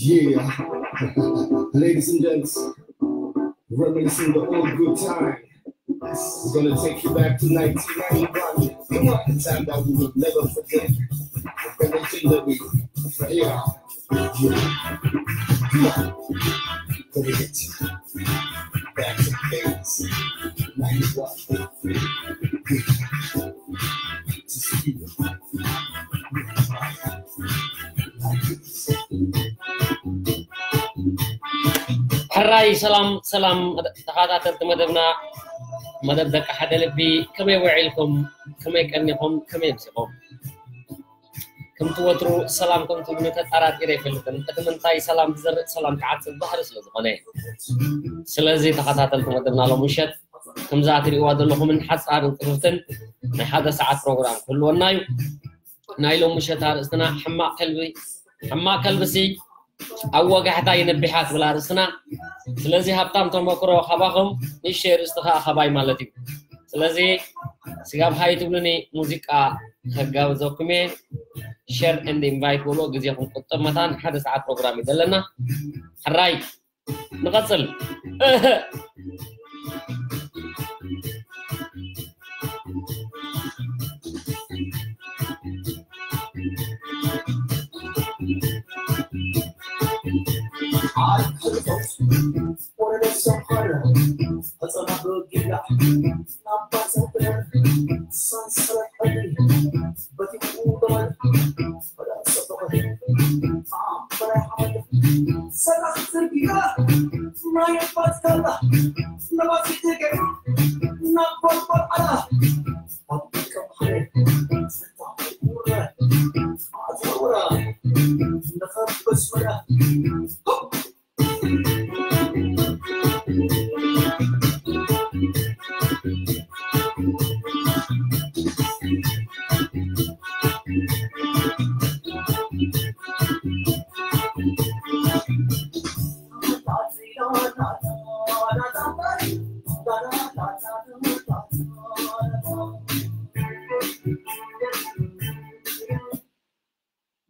Yeah. Ladies and gents, reminiscing the old good time. We're gonna take you back to nineteen ninety-one. Come on, the time that we will never forget. The legendary. Yeah. Yeah. Come on. Let me get you back to the days. ninety-one. ሕራይ ሰላም ሰላም ተኸታተልቲ መደብና፣ መደብ ደቂ ሓደ ልቢ፣ ከመይ ውዒልኩም? ከመይ ቀኒኹም? ከመይ ኣምሲኹም? ከምቲ ወትሩ ሰላም ከም ትብሉ ተጠራጢረ ኣይፈልጥን። እቲ ምንታይ ሰላም ዝዘርእ ሰላም ክዓጽድ ባህሪ ስለ ዝኾነ። ስለዚ ተኸታተልቲ መደብና ሎም ምሸት ከምዛ ትርእይዋ ዘለኹምን ሓጻርን ጽፍፍትን ናይ ሓደ ሰዓት ፕሮግራም ክህልወና እዩ። ናይ ሎም ምሸት ኣርእስትና ሕማቕ ከልቢ፣ ሕማቕ ከልብሲ ኣብ ወጋሕታ ይነቢሓ ትብል ኣርእስትና። ስለዚ ሃብታም ተመክሮ ካባኹም፣ ንእሽተይ ኣርእስቲ ከኣ ካባይ ማለት እዩ። ስለዚ ስጋብ ሃይ ትብሉኒ ሙዚቃ ከጋብዘኩም እየ። ሸር ኤንድ ኢንቫይት በሎ፣ ግዜኹም ቁጠብ። መታን ሓደ ሰዓት ፕሮግራም እዩ ዘለና። ሕራይ ንቐጽል።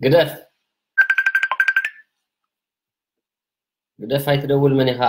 ግደፍ ግደፍ፣ ኣይትደውል፣ መን ኢኻ?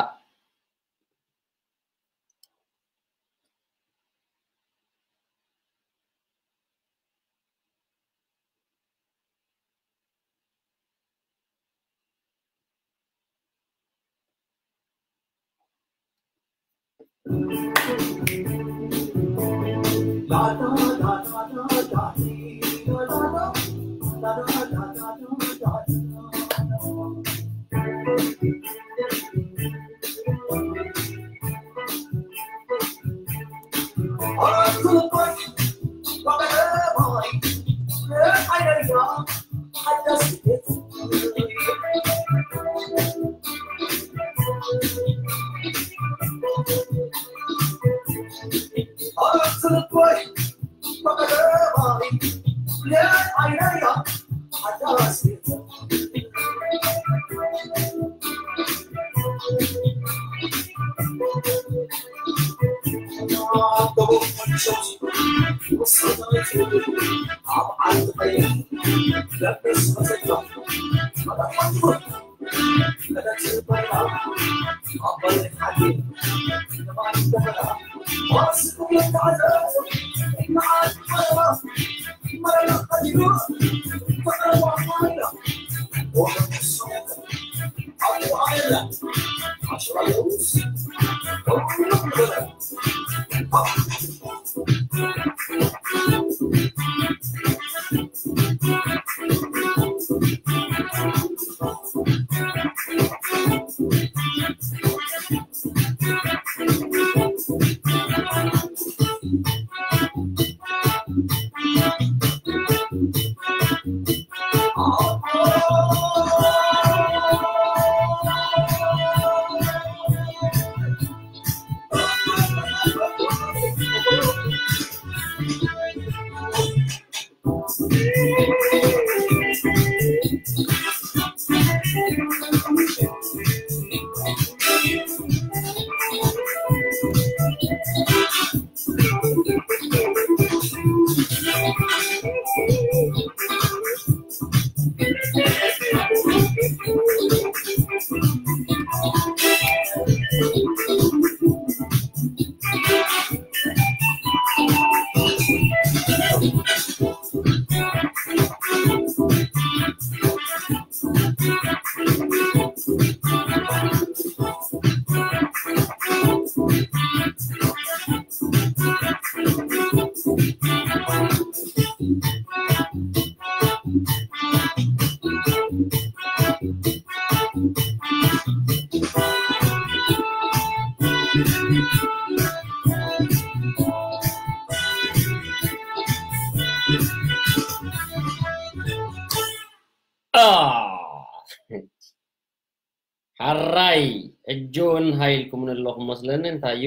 ሓራይ፣ ሕጂ እውን ሃይ ኢልኩምኒ ኣለኹም መስለኒ። እንታይ እዩ?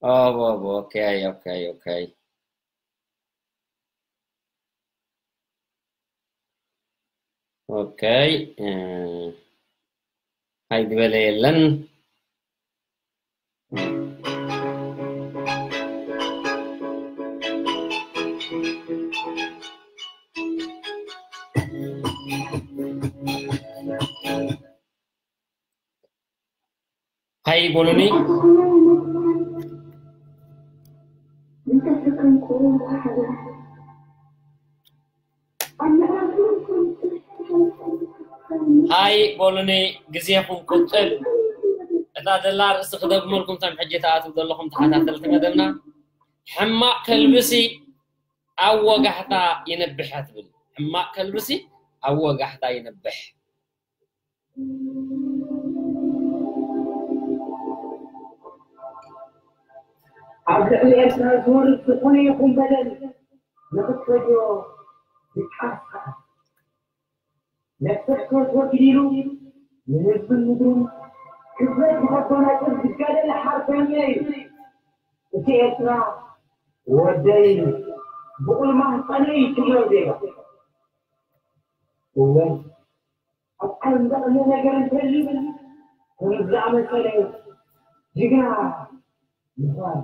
ኦቦ፣ ኦቦ፣ ኦኬ፣ ኦኬ፣ ኦኬ። ኦኬ፣ እ፣ ሃይ ዝበለ የለን። ሃይ በሉኒ። ሃይ በሉኒ፣ ግዜኹም ቁጥብ። እታ ዘላ ርእሲ ክደግመልኩም፣ እቶም ሕጂ ትኣትዉ ዘለኹም ተኸታተልቲ መደብና፣ ሕማቕ ከልብሲ ኣብ ወጋሕታ ይነብሕ እያ ትብል። ሕማቕ ከልብሲ ኣብ ወጋሕታ ይነብሕ። ኣብ ልዕሊ ኤርትራ ዝወርድ ዝኾነ ይኹን በደል ንኽትፈድዮ ይቃልስ። ነፍሲ ሕትወት ወጊድ ኢሉ ንህዝብን ምድሩን ክብረት ንኸጎናጽፍ ዝጋደለ ሓርበኛ እዩ። እቲ ኤርትራ ወደይ ብቑል ማህጸነይ ትብሎ ዜጋ። እወ፣ ኣብ ዓለም ዘቕንእ ነገር እንተልዩ፣ ከምዚ ዝኣመሰለ ጅግና ምዃን።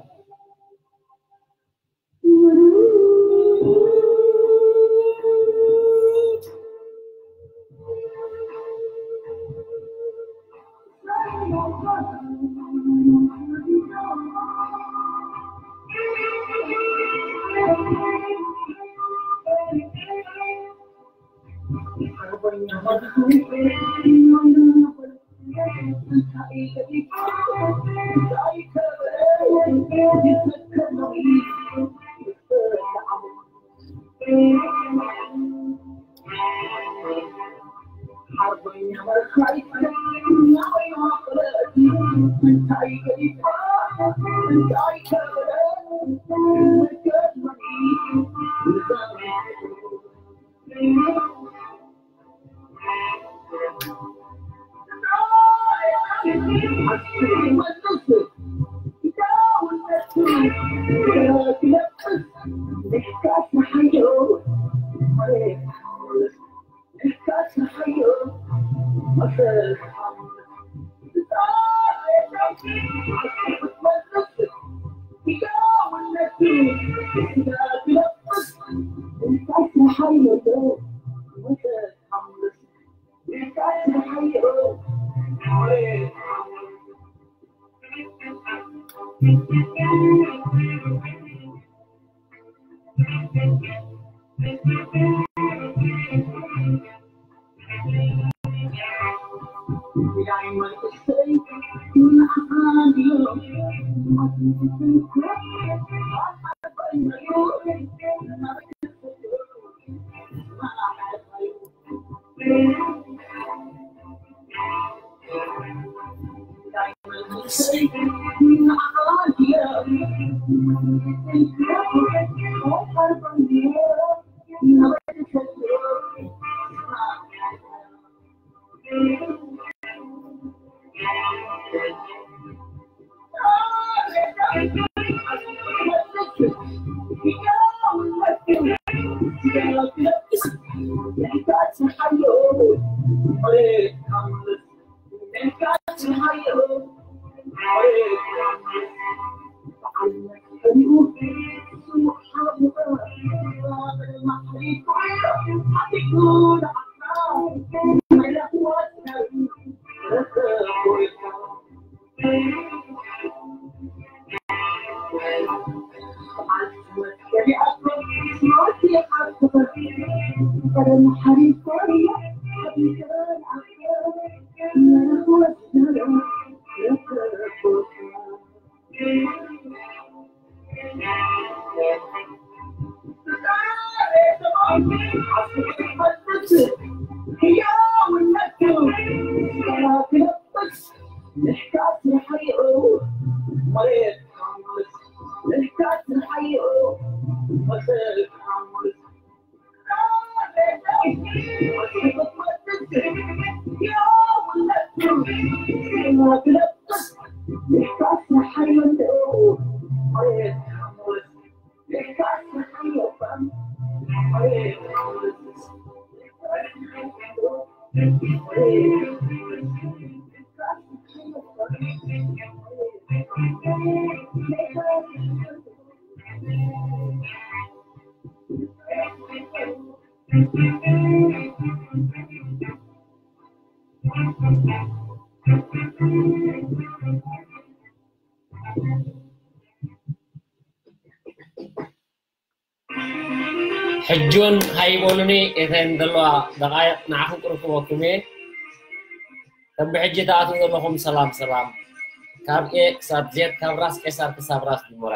ሕጂ እውን ሃይበሉኒ፣ እተን ዘለዋ ደቓይቕ ንዓኹም ቅርብ ክበኩም እየ። ከም ብሕጂ ትኣትዉ ዘለኹም ሰላም ሰላም፣ ካብ ኤ ክሳብ ዜድ፣ ካብ ራስ ቄሳር ክሳብ ራስ ዲሞራ።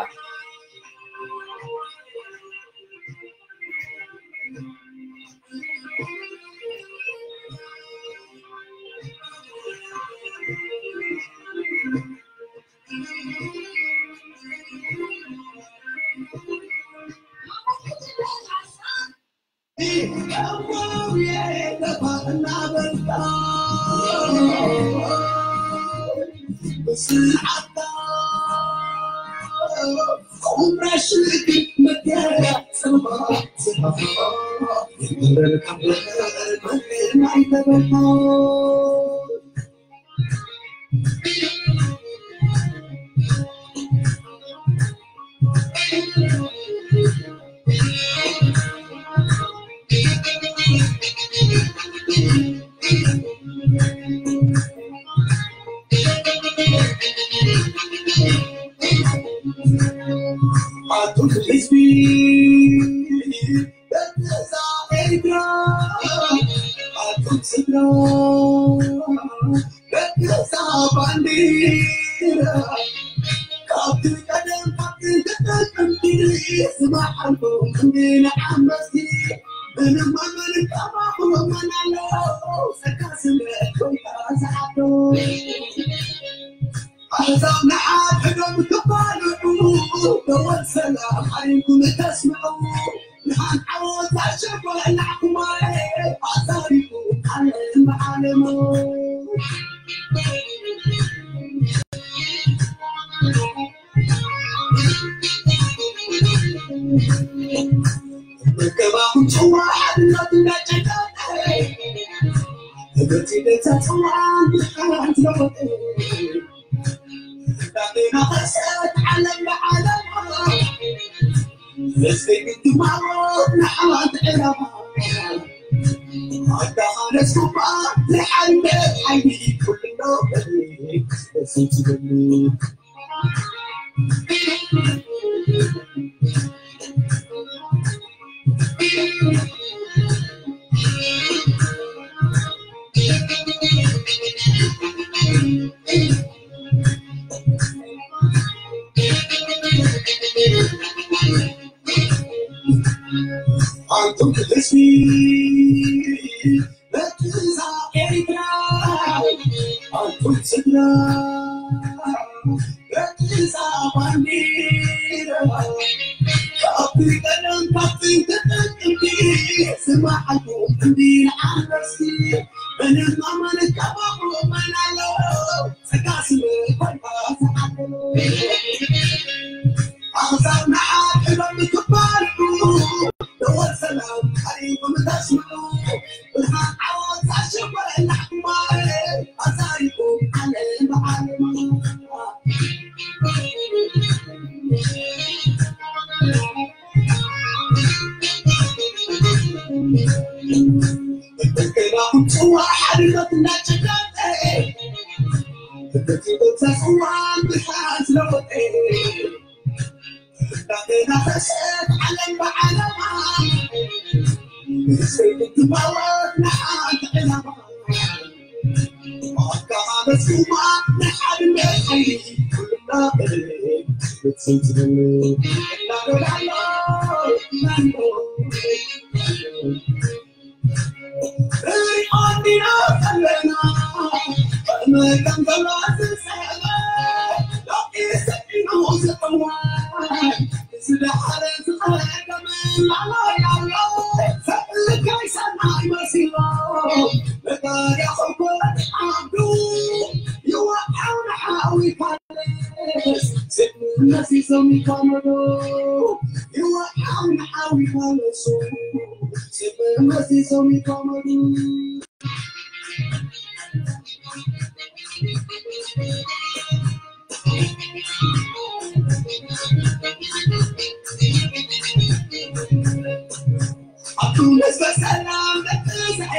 ኣቱም ህዝበ ሰላም ደቂ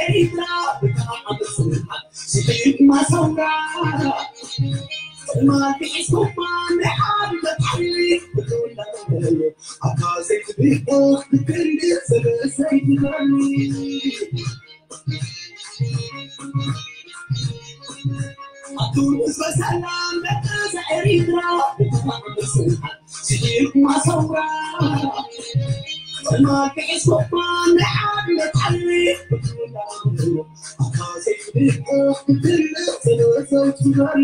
ኤሪትራ ብጣዕሚ ጽኑዓት ስኢድማ ሰውራ ትማል ሒዝኩማ ንሓድነት ሓይሊ ብቱላ ኣታ ዘይትብልኦ ብክንዲ ስለ ዘይትበኒ ኣቱም ህዝበ ሰላም ደቂ ኤሪትራ ብጣዕሚ ጽኑዓት ስኢድማ ሰውራ ትማል ሒዝኩማ ንሓድነት ሓይሊ ብቱላ ኣታ ዘይትብልኦ ብክንዲ ስለ ዘይትበኒ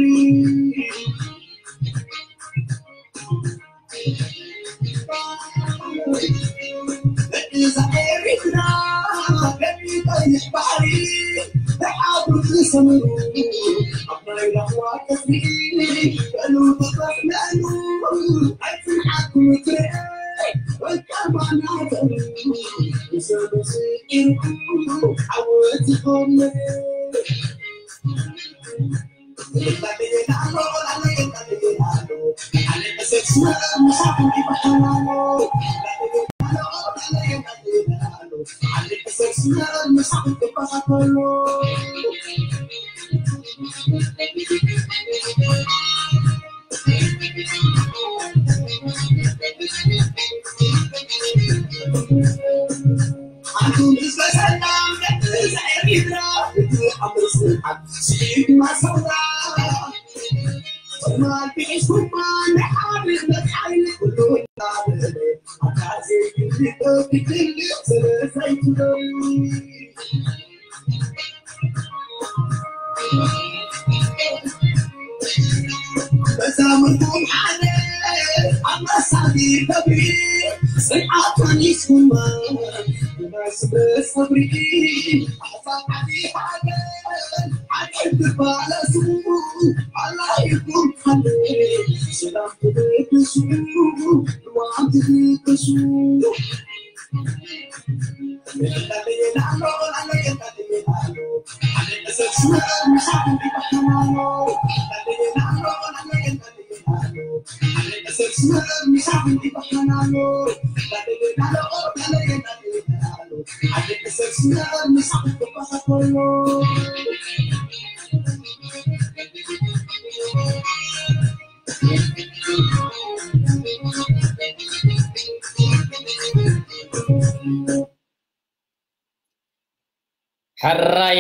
ሕራይ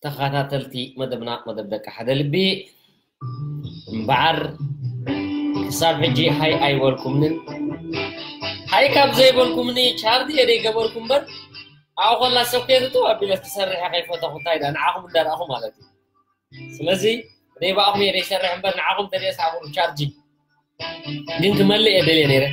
ተኸታተልቲ መደብና፣ መደብ ደቂ ሓደ ልቢ፣ እምበዓር ክሳብ ሕጂ ሃይ ኣይበልኩምንን። ሃይ ካብ ዘይበልኩምኒ ቻርጅ እየ ዘይገበርኩ እምበር፣ ኣብኡ ከላ ሰብ ከየትእትው ኣቢለ ትሰርሕ እየ ከይፈተኹ እንታይ ደኣ ንዓኹም እንዳረኣኹ ማለት እዩ። ስለዚ እኔ ብኣኹም እየ ዘይሰርሕ እምበር ንዓኹም ተደስ ኣብኡ ቻርጅ ግን ክመልእ እየ ደልየ ነይረ።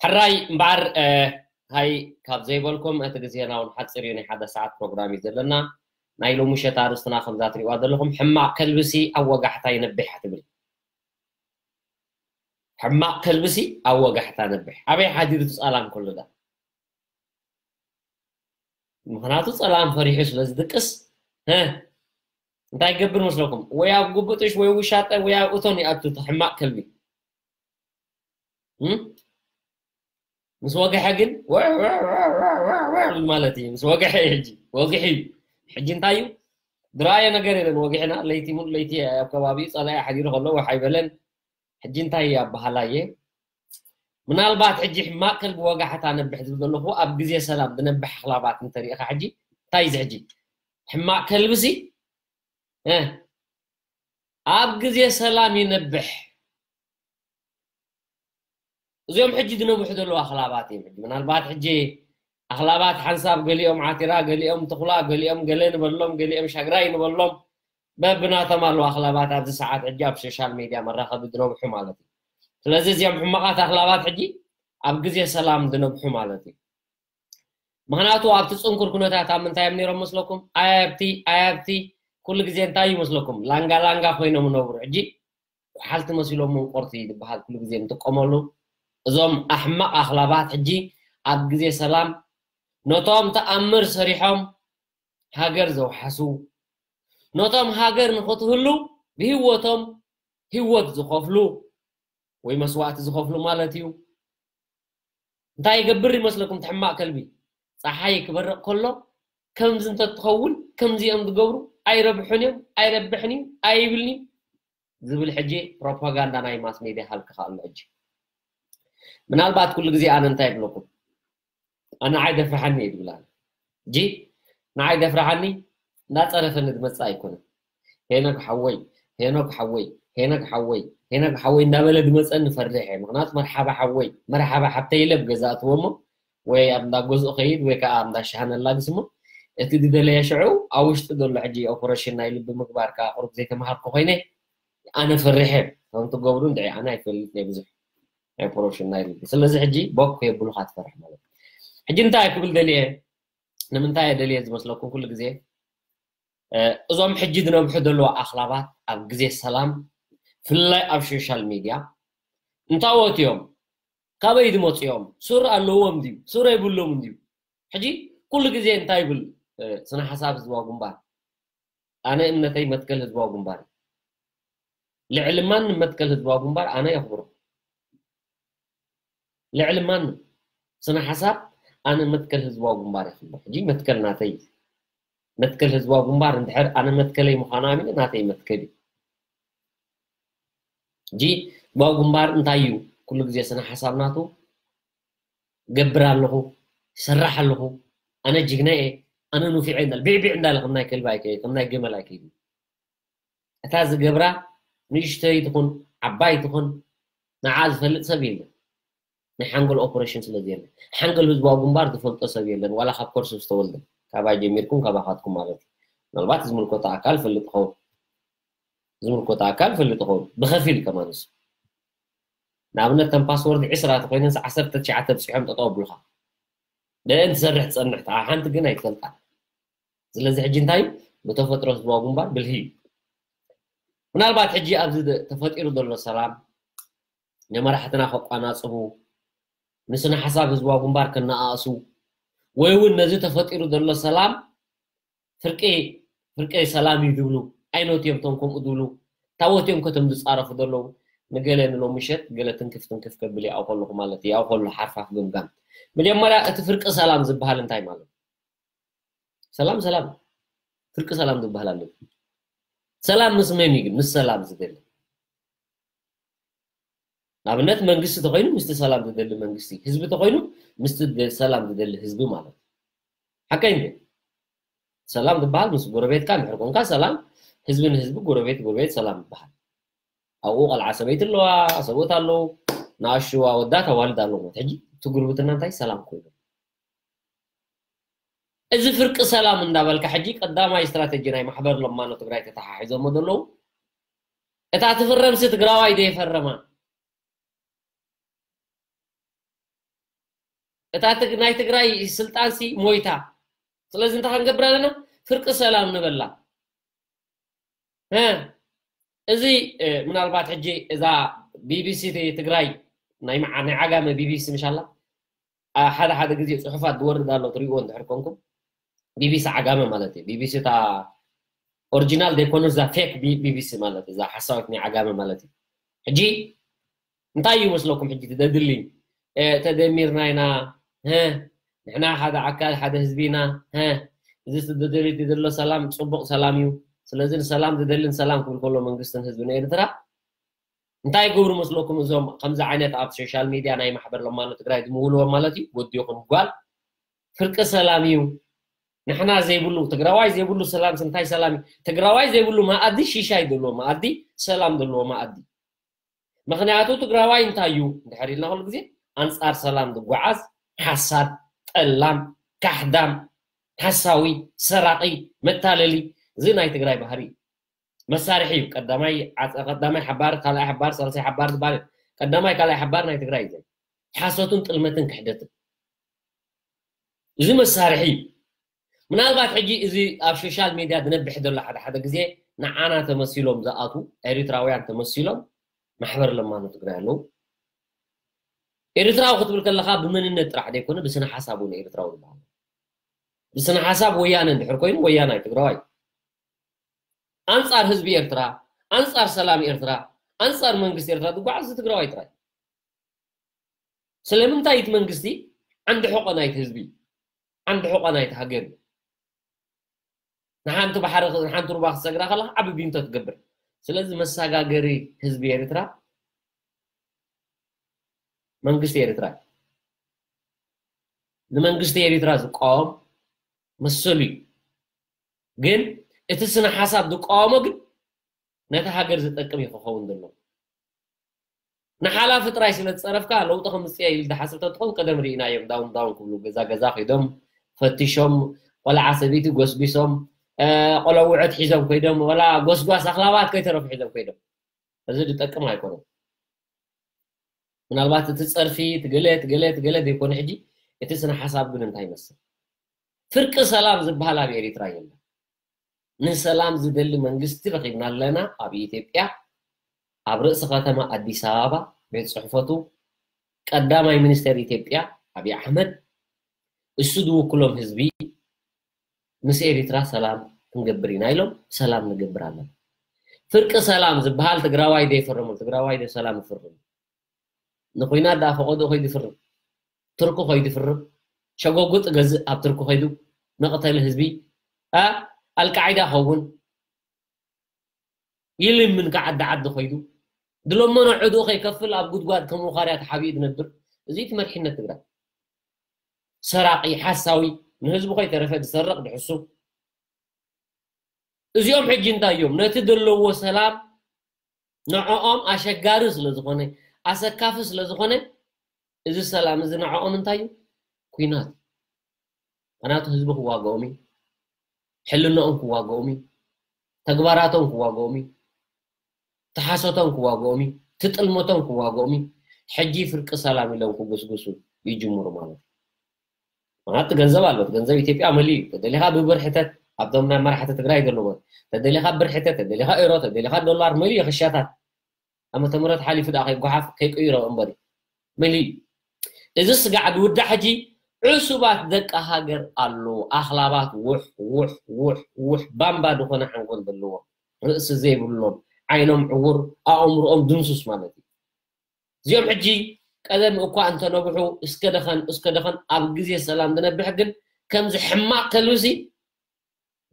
ሕራይ እምበኣር ሃይ ካብ ዘይበልኩም እቲ ግዜና እውን ሓፂር እዩ፣ ናይ ሓደ ሰዓት ፕሮግራም እዩ ዘለና። ናይ ሎሚ ምሸት ኣርእስትና ከምዛ ትሪእዋ ዘለኹም ሕማቕ ከልብሲ ኣብ ወጋሕታ ይነብሕ ትብል። ሕማቕ ከልብሲ ኣብ ወጋሕታ ነብሕ። ኣበይ ሓዲሩ እቲ ጸላም ኩሉ ዳ? ምኽንያቱ ጸላም ፈሪሑ ስለ ዝድቅስ፣ ሀ፣ እንታይ ይገብር መስለኩም? ወይ ኣብ ጉብጥሽ ወይ ውሻጠ ወይ ኣብ እቶን ይኣቱ እቲ ሕማቕ ከልቢ። እም? ምስ ወግሐ ግን ወዕ ወዕ ወዕ ወዕ ወዕ ወዕ ማለት እዩ። ምስ ወግሐ እዩ ሕጂ። ወግሒ እዩ። ሕጂ እንታይ እዩ? ዝረኣየ ነገር የለን። ወግሕና ለይቲ ሙሉ ለይቲ ኣብ ከባቢኡ ጸላኢ ሓዲሩ ከሎ ወሓይ በለን። ሕጂ እንታይ እዩ ኣበሃላየ? ምናልባት ሕጂ ሕማቕ ከልቢ ወጋሕታ ነብሕ ዝብል ዘለኹ ኣብ ግዜ ሰላም ዝነብሕ ኣኽላባት እንተሪኢኻ ሕጂ እንታይ እዩ እዚ ሕጂ? ሕማቕ ከልብሲ እ፣ ኣብ ግዜ ሰላም ይነብሕ። እዚኦም ሕጂ ዝነብሑ ዘለዉ ኣኽላባት እዮም። ሕጂ ምናልባት ሕጂ ኣኽላባት ሓንሳብ ገሊኦም ዓቲራ፣ ገሊኦም ትኹላ፣ ገሊኦም ገለ ንበሎም፣ ገሊኦም ሻግራይ ንበሎም። በብናቶም ኣለዉ ኣኽላባት ኣብዚ ሰዓት ሕጂ ኣብ ሶሻል ሜድያ መራኸቢ ዝነብሑ ማለት እዩ። ስለዚ እዚኦም ሕማቓት ኣኽላባት ሕጂ ኣብ ግዜ ሰላም ዝነብሑ ማለት እዩ። ምኽንያቱ ኣብቲ ጽንኩር ኩነታት ኣብ ምንታይ እዮም ነይሮም መስለኩም? ኣያብቲ ኣያብቲ ኩሉ ግዜ እንታይ እዩ መስለኩም? ላንጋ ላንጋ ኮይኖም ነብሩ። ሕጂ ኩሓልቲ መሲሎም መንቆርቲ ዝበሃል ኩሉ ግዜ ንጥቀመሉ። እዞም ኣሕማቕ ኣኽላባት ሕጂ ኣብ ግዜ ሰላም ነቶም ተኣምር ሰሪሖም ሃገር ዘውሓሱ፣ ነቶም ሃገር ንኽትህሉ ብህይወቶም ህይወት ዝኸፍሉ ወይ መስዋእቲ ዝኸፍሉ ማለት እዩ። እንታይ ይገብር ይመስለኩም? ትሕማቕ ከልቢ ፀሓይ ክበርቕ ከሎ ከምዚ እንተትኸውን ከምዚኦም ዝገብሩ ኣይረብሑን እዮም፣ ኣይረብሕን እዩ፣ ኣይብልን እዩ ዝብል ሕጂ ፕሮፓጋንዳ ናይ ማስ ሜድያ ሃልክኻ ኣሎ። ሕጂ ምናልባት ኩሉ ግዜ ኣነ እንታይ ይብለኩም? ኣነ ንዓይ ደፍርሓኒ እዩ ዝብል ኣነ። ሕጂ ንዓይ ደፍርሓኒ እናፀረፈኒ ዝመፅእ ኣይኮነን። ሄኖክ ሓወይ፣ ሄኖክ ሓወይ፣ ሄኖክ ሓወይ፣ ሄኖክ ሓወይ እንዳበለ ዝመፀኒ ፈርሕ እየ። ምኽንያቱ መርሓባ ሓወይ፣ መርሓባ ሓብተይ ኢለ ኣብ ገዛ እትዎ እሞ ወይ ኣብ እንዳ ገዝኡ ከይድ ወይ ከዓ ኣብ እንዳ ሻሃ ነላግስ እሞ እቲ ዝደለየ ሽዑ ኣብ ውሽጢ ዘሎ ሕጂ ኦፐሬሽን ናይ ልቢ ምግባር ከዓ ቁሩብ ዘይተምሃርኩ ኮይነ ኣነ ፈርሕ እየ። ከም ትገብሩ እንድዒ ኣነ ኣይፈልጥ እየ ብዙሕ ናይ ኦፐሬሽን ናይ ልቢ። ስለዚ ሕጂ ቦክ የብሉኻ ትፈርሕ ማለት እዩ። ሕጂ እንታይ ክብል ደልየ? ንምንታይ እየ ደልየ ዝመስለኩም? ኩሉ ግዜ እ፣ እዞም ሕጂ ዝነብሑ ዘለዉ ኣኽላባት ኣብ ግዜ ሰላም ፍላይ ኣብ ሶሻል ሚድያ እንታወት እዮም? ካበይ ዝመፁ እዮም? ሱር ኣለዎም ድዩ? ሱር የብሎም ድዩ? ሕጂ ኩሉ ግዜ እንታይ ይብል እ፣ ስነ ሓሳብ ህዝባዊ ግንባር? ኣነ እምነተይ መትከል ህዝባዊ ግንባር እዩ። ልዕሊ ማንም መትከል ህዝባዊ ግንባር ኣነ የኽብሮ። ልዕሊ ማንም ስነ ሓሳብ ኣነ መትከል ህዝባዊ ግንባር የኽብሮ። ሕጂ መትከል ናተይ እዩ። መትከል ህዝባዊ ግንባር እንድሕር ኣነ መትከለይ ምዃኑ ኣሚነ ናተይ መትከል እዩ። ሕጂ ህዝባዊ ግንባር እንታይ እዩ? ኩሉ ግዜ ስነ ሓሳብ ናቱ ገብር ኣለኹ፣ ይሰርሕ ኣለኹ፣ ኣነ ጅግና እየ፣ ኣነ ንፉዕ እየ እንዳለ ቢዕቢዕ እንዳለ ከም ናይ ከልቢ ኣይከ ከም ናይ ገመል ኣይከይድን። እታ ዝገብራ ንእሽተይ ትኹን ዓባይ ትኹን ንዓ ዝፈልጥ ሰብ የለን። ናይ ሓንጎል ኦፕሬሽን ስለ ዘየለ ሓንጎል ህዝባዊ ግንባር ዝፈልጦ ሰብ የለን። ዋላ ካብ ኮርስ ዝተወልደ ካባይ ጀሚርኩም ካባኻትኩም ማለት እዩ። ምናልባት ዝምልከቶ ኣካል ፈልጥ ኸውን ዝምልከቶ ኣካል ፈልጥ ኸውን ብኸፊል ከማንስ ንኣብነት ተን ፓስወርድ ዕስራ ተኮይነን ዓሰርተ ትሽዓተ ብፅሖም ጠጠው ኣብሉካ ደአን ትሰርሕ ትፀንሕ ተዓ ሓንቲ ግን ኣይትፈልጣ። ስለዚ ሕጂ እንታይ ብተፈጥሮ ህዝባዊ ግንባር ብልሂ እዩ። ምናልባት ሕጂ ኣብዚ ተፈጢሩ ዘሎ ሰላም ንመራሕትና ከቋናፅቡ ንስነ ሓሳብ ህዝባዊ ግንባር ከነኣእሱ ወይ እውን ነዚ ተፈጢሩ ዘሎ ሰላም ፍርቂ ፍርቂ ሰላም እዩ ዝብሉ ኣይኖት እዮም እቶም ከምኡ ዝብሉ ታወት እዮም ከቶም ዝፃረፉ ዘለዉ ንገለ ንሎም ምሸት ገለ ትንክፍ ትንክፍ ከብል ያው ከለኹ ማለት እዩ ያው ከሎ ሓርፋፍ ግምጋም መጀመርያ እቲ ፍርቂ ሰላም ዝበሃል እንታይ ማለት ሰላም ሰላም ፍርቂ ሰላም ዝበሃል ኣሎ ሰላም ምስ መን እዩ ግን ምስ ሰላም ዝደሊ ንኣብነት መንግስቲ ተኮይኑ ምስቲ ሰላም ዝደሊ መንግስቲ ህዝቢ ተኮይኑ ምስቲ ሰላም ዝደሊ ህዝቢ ማለት ሓቀይ እንዴ ሰላም ዝበሃል ምስ ጎረቤትካ እንድሕር ኮንካ ሰላም ህዝቢ ንህዝቢ ጎረቤት ጎረቤት ሰላም ይበሃል ኣብኡ ቆልዓ ሰበይቲ ኣለዋ ሰብኡት ኣለዉ ንኣሽዋ ወዳት ኣዋልድ ኣለዎ ሕጂ እቲ ጉርብትና እንታይ ሰላም ኮይኑ እዚ ፍርቂ ሰላም እንዳበልካ ሕጂ ቀዳማይ ስትራተጂ ናይ ማሕበር ለማኖ ትግራይ ተተሓሒዞሞ ዘለዉ እታ ትፍረምሲ ትግራዋይ ደይፈረማ እታ ናይ ትግራይ ስልጣንሲ ሞይታ ስለዚ እንታይ ክንገብር ኣለና ፍርቂ ሰላም ንበላ እዚ ምናልባት ሕጂ እዛ ቢቢሲ ትግራይ ናይ ዓጋመ ቢቢሲ ምሻላ ሓደ ሓደ ግዜ ፅሑፋት ዝወርድ ኣሎ ትሪእዎ እንድሕር ኮንኩም ቢቢሲ ዓጋመ ማለት እዩ ቢቢሲ እታ ኦሪጂናል ዘይኮነ እዛ ፌክ ቢቢሲ ማለት እዛ ሓሳዊት ናይ ዓጋመ ማለት እዩ ሕጂ እንታይ እዩ መስለኩም ሕጂ ትደድሊ ተደሚርና ኢና ንሕና ሓደ ኣካል ሓደ ህዝቢ ኢና እዚ ዝደደሊ ዘሎ ሰላም ፅቡቅ ሰላም እዩ ስለዚ ንሰላም ዝደልን ሰላም ክብል ከሎ መንግስትን ህዝብን ኤርትራ እንታይ ይገብሩ መስለኩም እዞም ከምዚ ዓይነት ኣብ ሶሻል ሚድያ ናይ ማሕበር ለማኖ ትግራይ ዝምውልዎም ማለት እዩ ወዲ ይኹን ጓል ፍርቂ ሰላም እዩ ንሕና ዘይብሉ ትግራዋይ ዘይብሉ ሰላም እንታይ ሰላም እዩ ትግራዋይ ዘይብሉ መኣዲ ሽሻይ ዘለዎ መኣዲ ሰላም ዘለዎ መኣዲ ምኽንያቱ ትግራዋይ እንታይ እዩ እንድሕር ኢልና ኩሉ ግዜ ኣንፃር ሰላም ዝጓዓዝ ሓሳድ ጠላም ካሕዳም ሓሳዊ ሰራቂ መታለሊ እዚ ናይ ትግራይ ባህሪ እዩ መሳርሒ እዩ። ቀዳማይ ዓፀ- ቀዳማይ ሓባር፣ ካልኣይ ሓባር፣ ሳልሳይ ሓባር ዝበሃል ቀዳማይ ካልኣይ ሓባር ናይ ትግራይ እዩ። ሓሶትን ጥልመትን ክሕደትን እዚ መሳርሒ እዩ። ምናልባት ሕጂ እዚ ኣብ ሶሻል ሚድያ ዝነብሕ ዘሎ ሓደ ሓደ ግዜ ንዓና ተመሲሎም ዝኣቱ ኤሪትራውያን ተመሲሎም ማሕበር ለማኖ ትግራይ ኣለዉ። ኤርትራዊ ክትብል ከለካ ብመንነት ጥራሕ ዘይኮነ ብስነ ሓሳብ እውን ኤርትራዊ ዝበሃል። ብስነ ሓሳብ ወያነ እንድሕር ኮይኑ ወያናይ ትግራዋይ ኣንጻር ህዝቢ ኤርትራ፣ ኣንጻር ሰላም ኤርትራ፣ ኣንጻር መንግስቲ ኤርትራ ዝጓዓዝ እዚ ትግራዋይ ጥራይ። ስለምንታይ እቲ መንግስቲ ዓንዲ ሕቆ ናይቲ ህዝቢ፣ ዓንዲ ሕቆ ናይቲ ሃገር እዩ። ንሓንቲ ባሕሪ ንሓንቲ ሩባ ክትሰግራ ከለካ ዓቢ ቢንቶ ትገብር። ስለዚ መሰጋገሪ ህዝቢ ኤርትራ መንግስቲ ኤርትራ እዩ። ንመንግስቲ ኤርትራ ዝቃወም መሰሉ እዩ። ግን እቲ ስነ ሓሳብ ዝቃወሞ ግን ነቲ ሃገር ዝጠቅም እዩ ክኸውን ዘለዎ። ንሓላፊ ጥራይ ስለ ዝፀረፍካ ለውጢ ከምፅእ ኢል ዝሓስብ ተትኸውን ቀደም ርኢናዮም። ዳውን ዳውን ክብሉ ገዛ ገዛ ከይዶም ፈቲሾም ቆልዓ ሰበይቲ ጎስጒሶም ቆለውዐት ሒዞም ከይዶም ወላ ጎስጓስ ኣኽላባት ከይተረፉ ሒዞም ከይዶም። እዚ ዝጠቅም ኣይኮነን። ምናልባት እቲ ፀርፊ ትገለ ትገለ ትገለ ዘይኮነ ሕጂ እቲ ስነ ሓሳብ ግን እንታይ ይመስል? ፍርቂ ሰላም ዝበሃል ኣብ ኤሪትራ የለን። ንሰላም ዝደሊ መንግስቲ ረኺብና ኣለና ኣብ ኢትዮጵያ ኣብ ርእሲ ከተማ ኣዲስ ኣበባ ቤት ፅሕፈቱ ቀዳማይ ሚኒስተር ኢትዮጵያ ኣብይ ኣሕመድ እሱ ዝውክሎም ህዝቢ ምስ ኤሪትራ ሰላም ክንገብር ኢና ኢሎም ሰላም ንገብር ኣለና። ፍርቂ ሰላም ዝበሃል ትግራዋይ ዶ ይፈርምሉ? ትግራዋይ ዶ ሰላም ይፍርም? ንኹናት ደኣ ፈቐድኡ ከይዱ ይፍርም። ቱርኪ ከይዱ ይፍርም። ሸጎጉጥ ገዝእ ኣብ ቱርኪ ከይዱ መቕተሊ ህዝቢ ኣልቃዒዳ ኸውን ይልምን ከዓዲ ዓዲ ከይዱ ድለመኖ ዕድኡ ከይከፍል ኣብ ጉድጓድ ከም ውኻርያ ተሓቢኡ ዝነብር እዚ እቲ መሪሕነት ትግራይ ሰራቂ ሓሳዊ ንህዝቡ ከይተረፈ ዝሰርቕ ድሕሱ እዚኦም ሕጂ እንታይ እዮም ነቲ ዘለዎ ሰላም ንዕኦም ኣሸጋሪ ስለ ዝኾነ ኣሰካፊ ስለ ዝኾነ እዚ ሰላም እዚ ንዕኦም እንታይ እዩ ኩናት ምክንያቱ ህዝቢ ክዋግኦም እዩ ሕልናኦም ክዋግኦም እዩ ተግባራቶም ክዋግኦም እዩ ትሓሶቶም ክዋግኦም እዩ ትጥልመቶም ክዋግኦም እዩ ሕጂ ፍርቂ ሰላም ኢሎም ክጉስጉሱ ይጅምሩ ማለት እዩ ምክንያቱ ገንዘብ ኣሎ ገንዘብ ኢትዮጵያ መሊ እዩ ተደሊኻ ብብር ሕተት ኣብቶም ናይ መራሕቲ ትግራይ ዘለዎም ተደሊኻ ብር ሕተት ተደሊኻ ኤሮ ተደሊኻ ዶላር መሊ እዩ ክሻታት ዓመተ ምህረት ሓሊፉ ደኣ ከይጓሓፍ ከይቅይሮ እምበር እዩ መሊ እዩ እዚ ስጋዕ ዝውዳእ ሕጂ ዕሱባት ደቂ ሃገር ኣለዉ ኣኽላባት ውሕ ውሕ ውሕ ውሕ ባምባ ዝኾነ ሓንጎል ዘለዎም ርእሲ ዘይብሎም ዓይኖም ዕውር ኣእምሮኦም ድምሱስ ማለት እዩ እዚኦም ሕጂ ቀደም እኳ እንተነብሑ እስከ ደኸን እስከ ደኸን ኣብ ግዜ ሰላም ዝነብሕ ግን ከምዚ ሕማቕ ከልብሲ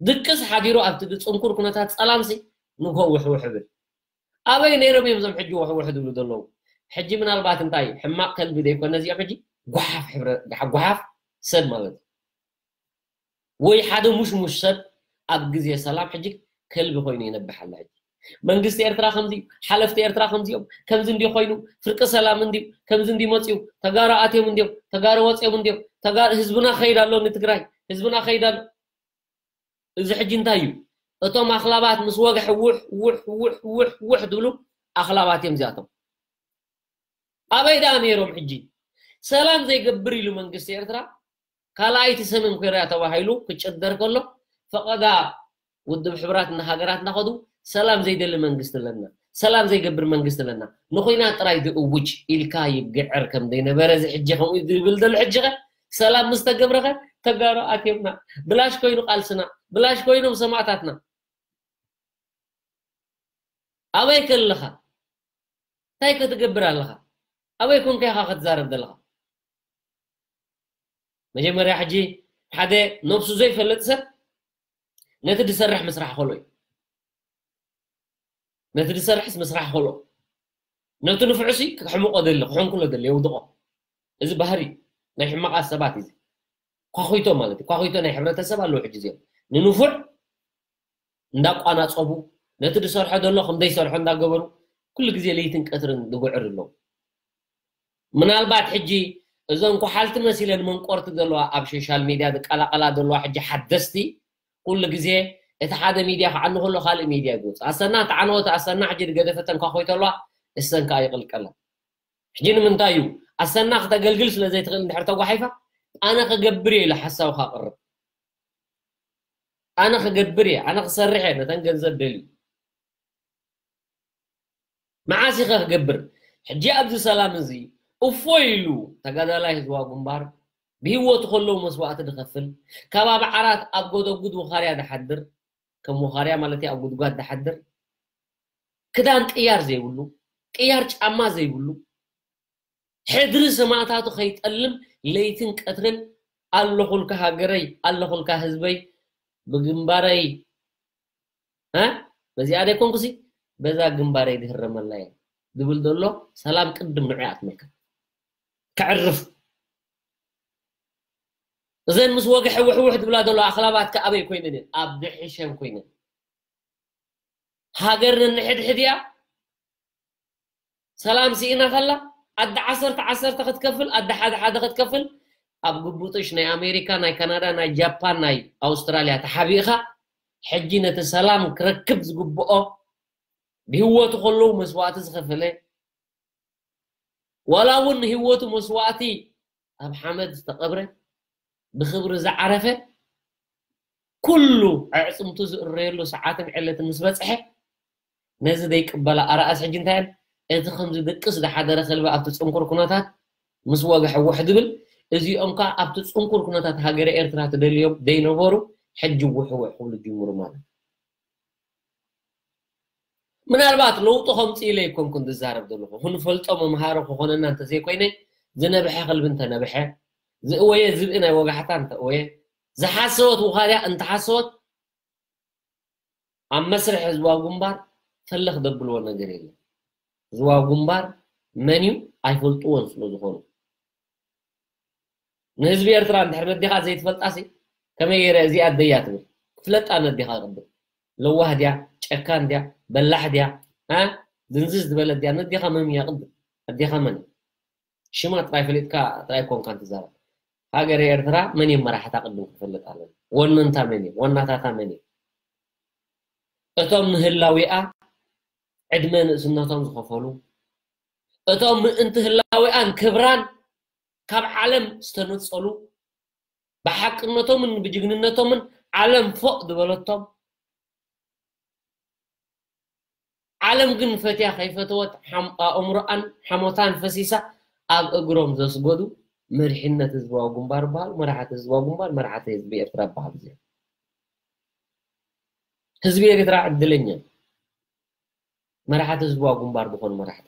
ድቅስ ሓዲሩ ኣብቲ ጽንኩር ኩነታት ጸላምሲ ንግሆ ውሕውሕ እብል ኣበይ ነይሮም እዮም እዞም ሕጂ ውሕውሕ ዝብሉ ዘለዉ ሕጂ ምናልባት እንታይ ሕማቕ ከልቢ ዘይኮነ እዚኦም ሕጂ ጓሓፍ ሕብረ ጓሓፍ ሰብ ማለት እዩ ወይ ሓደ ሙሽሙሽ ሰብ ኣብ ግዜ ሰላም ሕጂ ከልቢ ኮይኑ ይነብሕ ኣሎ ሕጂ መንግስቲ ኤርትራ ከምዚ ሓለፍቲ ኤርትራ ከምዚኦም ከምዚ እንዲ ኮይኑ ፍርቂ ሰላም እንዲ ከምዚ እንዲ መፅዩ ተጋሩ ኣትዮም እንዲዮም ተጋሩ ወፅዮም እንዲዮም ተጋሩ ህዝብና ከይድ ኣሎ ንትግራይ ህዝብና ከይድ ኣሎ እዚ ሕጂ እንታይ እዩ እቶም ኣኽላባት ምስ ወግሐ ውሕ ውሕ ውሕ ውሕ ውሕ ዝብሉ ኣኽላባት እዮም እዚኣቶም ኣበይ ደኣ ነይሮም ሕጂ ሰላም ዘይገብር ኢሉ መንግስቲ ኤርትራ ካልኣይቲ ሰሜን ኮርያ ተባሂሉ ክጭደር ከሎ ፈቐዳ ውድብ ሕብራት እና ሃገራት እናኸዱ ሰላም ዘይደሊ መንግስቲ ኣለና ሰላም ዘይገብር መንግስቲ ኣለና ንኹናት ጥራይ ዝእውጅ ኢልካ ይግዕር ከም ዘይነበረ እዚ ሕጂ ከምኡ ዝብል ዘሎ ሕጂ ኸ ሰላም ምስ ተገብረ ኸ ተጋሩ ኣትየምና ብላሽ ኮይኑ ቃልስና ብላሽ ኮይኖም ሰማእታትና ኣበይ ከለኻ እንታይ ክትገብር ኣለኻ ኣበይ ኮንካ ኢኻ ክትዛረብ ዘለኻ መጀመርያ ሕጂ ሓደ ነብሱ ዘይፈልጥ ሰብ ነቲ ዝሰርሕ ምስራሕ ከሎ እዩ ነቲ ዝሰርሕስ ምስራሕ ከሎ ነቲ ንፍዑሲ ክሕምቆ ደሊ ክሕንኩሎ ደሊ የውድቆ እዚ ባህሪ ናይ ሕማቓት ሰባት እዚ ኳኹይቶ ማለት እዩ ኳኹይቶ ናይ ሕብረተሰብ ኣለዉ ሕጂ እዚኦም ንንፉዕ እንዳቋናፀቡ ነቲ ዝሰርሖ ዘሎ ከም ዘይሰርሖ እንዳገበሩ ኩሉ ግዜ ለይትን ቀትርን ዝጉዕር ኣለዉ ምናልባት ሕጂ እዞን ኳሓልቲ መሲለን መንቆርቲ ዘለዋ ኣብ ሶሻል ሚድያ ዝቀላቀላ ዘለዋ ሕጂ ሓደስቲ ኩሉ ግዜ እቲ ሓደ ሚድያ ክዓኑ ከሎ ካልእ ሚድያ ይግውፅ። ኣሰና ተዓነወት፣ ኣሰና ሕጂ ዝገደፈተን ኳ ኮይተሏ፣ እሰን ከዓ ይቕልቀላ። ሕጂ ንምንታይ እዩ ኣሰና ክተገልግል ስለ ዘይትኽእል እንድሕር ተጓሒፋ፣ ኣነ ክገብር እየ ኢሉ ሓሳቡ ካቕርብ፣ ኣነ ክገብር እየ፣ ኣነ ክሰርሕ እየ፣ ነተን ገንዘብ ደልዩ መዓስ ኢኸ ክገብር? ሕጂ ኣብዚ ሰላም እዚ እፎይ ኢሉ ተጋዳላይ ህዝባዊ ግንባር ብህይወቱ ከለዉ መስዋእቲ ዝኸፍል፣ ከባቢ ዓራት ኣብ ጎደጉድ ውኻርያ ዝሓድር፣ ከም ውኻርያ ማለት እዩ፣ ኣብ ጉድጓድ ዝሓድር፣ ክዳን ቅያር ዘይብሉ፣ ቅያር ጫማ ዘይብሉ፣ ሕድሪ ሰማእታቱ ከይጠልም ለይትን ቀትርን ኣለኹልካ ሃገረይ፣ ኣለኹልካ ህዝበይ፣ ብግንባረይ እ በዚኣ ደይኮንኩሲ በዛ ግንባረይ ድህረመላ እየ ዝብል ዘሎ ሰላም ቅድም ንዑ ኣትመልከት። ከዕርፍ እዘን ምስ ወግሐ ውሕውሕ ዝብላ ዘሎ ኣኽላባት ከኣበይ ኮይነን እየን? ኣብ ድሕሸን ኮይነን። ሃገር ነንሕድሕድ እያ። ሰላም ስኢና ከላ ኣደ ዓሰርተ ዓሰርተ ክትከፍል፣ ኣደ ሓደ ሓደ ክትከፍል፣ ኣብ ግቡጥሽ ናይ ኣሜሪካ፣ ናይ ካናዳ፣ ናይ ጃፓን፣ ናይ ኣውስትራልያ ተሓቢእኻ፣ ሕጂ ነቲ ሰላም ክረክብ ዝግብኦ ብህይወቱ ከለዉ መስዋእቲ ዝኸፈለ፣ ዋላ እውን ንህይወቱ መስዋእቲ ኣብ ሓመድ ዝተቐብረ፣ ብኽብሪ ዝዓረፈ፣ ኩሉ ኣዕፅምቱ ዝእረየሉ ሰዓትን ዕለትን ምስ በፅሐ፣ ነዚ ዘይቅበላ ኣርኣስ ሕጂ እንታይ እየን? እቲ ከም ዝድቅስ ዝሓደረ ከልቢ ኣብቲ ፅንኩር ኩነታት ምስ ወግሐ ውሕ ድብል፣ እዚኦም ከዓ ኣብቲ ፅንኩር ኩነታት ሃገረ ኤርትራ ትደልዮም ዘይነበሩ ሕጂ ውሕውሕ ክብሉ ጅምሩ ማለት እዩ። ምናልባት ለውጢ ከምፅእ ኢለ ኣይኮንኩን ዝዛረብ ዘለኹ፣ ክንፈልጦ መምሃሪ ክኾነና እንተዘይኮይነ፣ ዝነብሐ ከልቢ እንተነብሐ፣ ዝእወየ ዝብኢ ናይ ወጋሕታ እንተእወየ፣ ዝሓሰወት ውኻርያ እንተሓሰወት፣ ኣብ መስርሕ ህዝባዊ ግንባር ፈለኽ ዘብልዎ ነገር የለን። ህዝባዊ ግንባር መን እዩ ኣይፈልጥዎን ስለ ዝኾኑ፣ ንህዝቢ ኤርትራ እንድሕር ነዲኻ ዘይትፈልጣሲ፣ ከመይ ገይረ እዚኣ ኣደያ ትብል? ክፍለጣ ነዲኻ ቅድም። ለዋህ ድያ፣ ጨካን ድያ፣ በላሕ ድያ፣ እ ድንዝዝ ዝበለት ድያ? ነዲኻ መን እያ ቅድም? ኣዴኻ መን እያ? ሽማ ጥራይ ፈሊጥካ ጥራይ ኮንካ እንትዛረብ። ሃገረ ኤርትራ መን እዮም መራሕታ ቅድም ክፈልጥ ኣለና። ወነንታ መን እዮም? ዋናታታ መን እዮም? እቶም ንህላዊኣ ዕድመ ንእስነቶም ዝኸፈሉ፣ እቶም ምእንቲ ህላዊኣን ክብራን ካብ ዓለም ዝተነጸሉ፣ ብሓቅነቶምን ብጅግንነቶምን ዓለም ፎቕ ዝበለቶም፣ ዓለም ግን ፈትያ ከይፈተወት ሓም-፣ ኣእምሮኣን ሓሞታን ፈሲሳ ኣብ እግሮም ዘስገዱ መሪሕነት ህዝባዊ ግንባር በሃሉ፣ መራሕቲ ህዝባዊ ግንባር፣ መራሕቲ ህዝቢ ኤርትራ በሃሉ እዚኦም። ህዝቢ ኤርትራ ዕድለኛ እዩ፣ መራሕቲ ህዝባዊ ግንባር ዝኾኑ መራሕቲ።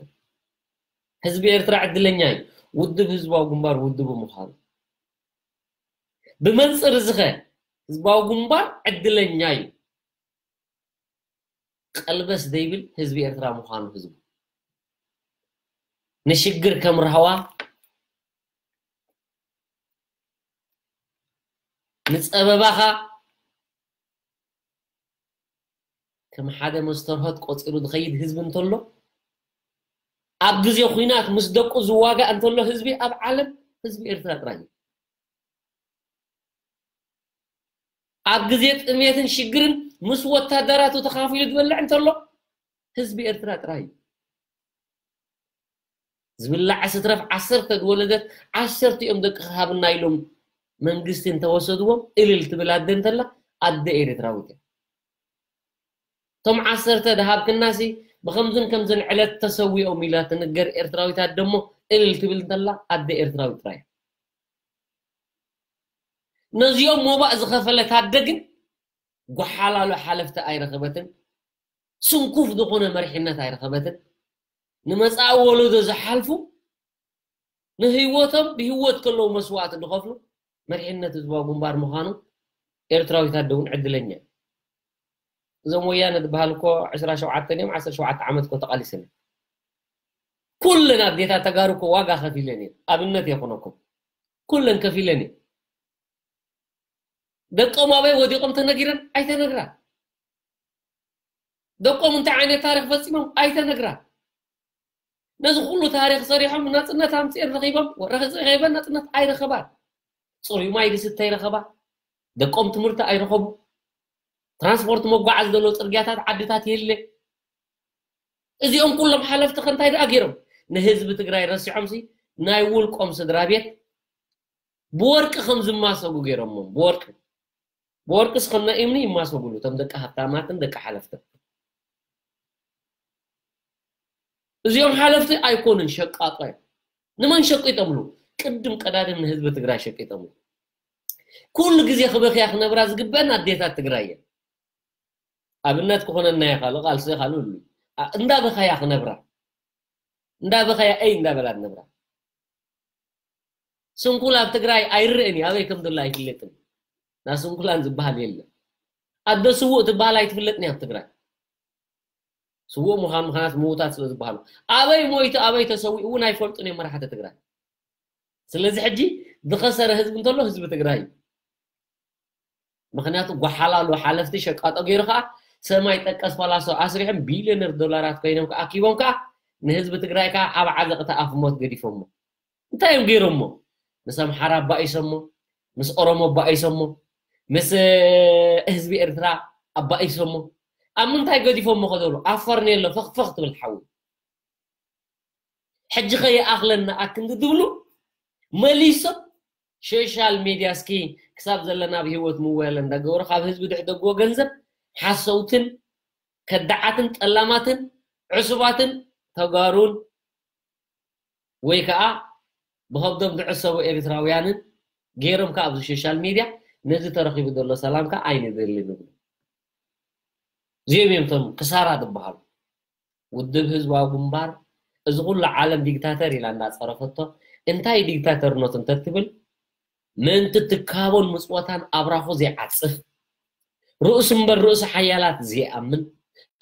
ህዝቢ ኤርትራ ዕድለኛ እዩ፣ ውድብ ህዝባዊ ግንባር ውድቡ ምዃኑ። ብመንጽር እዚ ኸ ህዝባዊ ግንባር ዕድለኛ እዩ፣ ቀልበስ ዘይብል ህዝቢ ኤርትራ ምዃኑ ህዝቡ። ንሽግር ከም ራህዋ፣ ንጸበባኻ ከም ሓደ መስተርሆት ቆጺሩ ዝኸይድ ህዝቢ እንተሎ፣ ኣብ ግዜ ኹናት ምስ ደቁ ዝዋጋእ እንተሎ ህዝቢ ኣብ ዓለም ህዝቢ ኤርትራ ጥራይ እዩ። ኣብ ግዜ ጥሜትን ሽግርን ምስ ወታደራቱ ተኻፊሉ ዝበልዕ እንተሎ ህዝቢ ኤርትራ ጥራይ እዩ። ዝብላዕ ስትረፍ ዓሰርተ ዝወለደት ዓሰርተ እዮም ደቂ ሃብና ኢሎም መንግስቲ እንተወሰድዎም እልል ትብል ኣደ እንተላ ኣደ ኤርትራዊት እያ። እቶም ዓሰርተ ድሃብክናሲ ብኸምዝን ከምዝን ዕለት ተሰዊኦም ኢላ ትንገር ኤርትራዊት ኣደ እሞ እልል ትብል እንተላ ኣደ ኤርትራዊት ጥራይ እያ። ነዚኦም ሞባእ ዝኸፈለት ኣደ ግን ጓሓላሉ ሓለፍቲ ኣይረኸበትን፣ ስንኩፍ ዝኾነ መሪሕነት ኣይረኸበትን፣ ንመጻኢ ወለዶ ዝሓልፉ፣ ንህይወቶም ብህይወት ከለዉ መስዋእቲ ዝኸፍሉ መሪሕነት ህዝባዊ ግንባር ምዃኑ ኤርትራዊት ኣደ እውን ዕድለኛ እዩ። እዞም ወያነ ዝበሃል እኮ ዕስራ ሸውዓተ እዮም፣ ዓሰርተ ሸውዓተ ዓመት እኮ ተቓሊሰን እዮም። ኩለን ኣዴታት ተጋሩ እኮ ዋጋ ከፊለን እየን። ኣብነት የኹነኩም። ኩለን ከፊለን እየን። ደቆም ኣበይ ወዲቖም ተነጊረን? ኣይተነግራን። ደቆም እንታይ ዓይነት ታሪኽ ፈጺሞም? ኣይተነግራን። ነዚ ኩሉ ታሪኽ ሰሪሖም ናጽነት ኣምጺኤን ረኺቦም? ረኺበን ናጽነት ኣይረኸባን። ጽሩይ ማይ ዝስተ ኣይረኸባ። ደቆም ትምህርቲ ኣይረኸቡ። ትራንስፖርት መጓዓዝ ዘሎ ጽርግያታት ዓድታት የለ። እዚኦም ኩሎም ሓለፍቲ ከ እንታይ ደኣ ገይሮም? ንህዝቢ ትግራይ ረሲዖምሲ ናይ ውልቆም ስድራ ቤት ብወርቂ ከም ዝማሰጉ ገይሮሞም። ብወርቂ፣ ብወርቂስ ከም ናይ እምኒ ይማሰጉሉ እቶም ደቂ ሃብታማትን ደቂ ሓለፍትን። እዚኦም ሓለፍቲ ኣይኮኑን፣ ሸቃጦ እዮም። ንመን ሸቂጦምሉ? ቅድም ቀዳድም ንህዝቢ ትግራይ ሸቂጦምሉ። ኩሉ ግዜ ክበኽያ ክነብራ ዝግበአን ኣዴታት ትግራይ እየን። ኣብነት ክኾነና ይኻሉ፣ ቃልሲ ይኻሉ እሉ። ኣ-፣ እንዳበኸያ ክነብራ፣ እንዳበኸያ እይ እንዳበላ ክነብራ። ስንኩል ኣብ ትግራይ ኣይረእን እዩ፣ ኣበይ ከም ዘሎ ኣይፍለጥን። ና ስንኩላን ዝበሃል የለ። ኣደ ስዉእ ትበሃል ኣይትፍለጥን እያ ኣብ ትግራይ። ስዉእ ምዃን ምኽንያት ምዉታት ስለ ዝበሃሉ። ኣበይ ሞይቱ፣ ኣበይ ተሰዊኡ እውን ኣይፈልጡን እዮም መራሕቲ ትግራይ። ስለዚ ሕጂ ዝኸሰረ ህዝቢ እንተሎ ህዝቢ ትግራይ እዩ። ምኽንያቱ ጓሓላሉ ሓለፍቲ ሸቃጦ ገይሩ ከዓ ሰማይ ጠቀስ ፋላሶ ኣስሪሖም ቢልዮነር ዶላራት ኮይኖም ከዓ ኣኪቦም ከዓ ንህዝቢ ትግራይ ከዓ ኣብ ዓዘቕቲ ኣፍ ሞት ገዲፎሞ። እንታይ እዮም ገይሮሞ? ምስ ኣምሓራ ኣባኢሶሞ፣ ምስ ኦሮሞ ኣባኢሶሞ፣ ምስ፣ እ፣ ህዝቢ ኤርትራ ኣባኢሶሞ። ኣብ ምንታይ ገዲፎሞ ከዘብሉ? ኣብ ፈርኔሎ ፈኽፈኽ ትብል ሓዊ። ሕጂ ከ ይኣኽለና ኣክንዲ ትብሉ መሊሶም ሶሻል ሜድያ እስኪ ክሳብ ዘለና ኣብ ህይወት ምወያለ እንዳገበሩ ካብ ህዝቢ ድሕደግዎ ገንዘብ ሓሰውትን ከዳዓትን ጠላማትን ዕሱባትን ተጋሩን ወይ ከዓ ብኸብዶም ዝዕሰቡ ኤርትራውያንን ገይሮም ከዓ ኣብዚ ሶሻል ሜድያ ነዚ ተረኺቡ ዘሎ ሰላም ከዓ ኣይንደልን ይብሉ። እዚኦም እዮም እቶም ክሳራ ዝበሃሉ። ውድብ ህዝባዊ ግንባር እዚ ኩሉ ዓለም ዲክታተር ኢላ እንዳፀረፈቶ እንታይ ዲክታተርነቱ እንተትብል ምእንቲ ትካቦን ምፅወታን ኣብራኹ ዘይዓፅፍ ርእሱ እምበር ርእሱ ሓያላት ዘይኣምን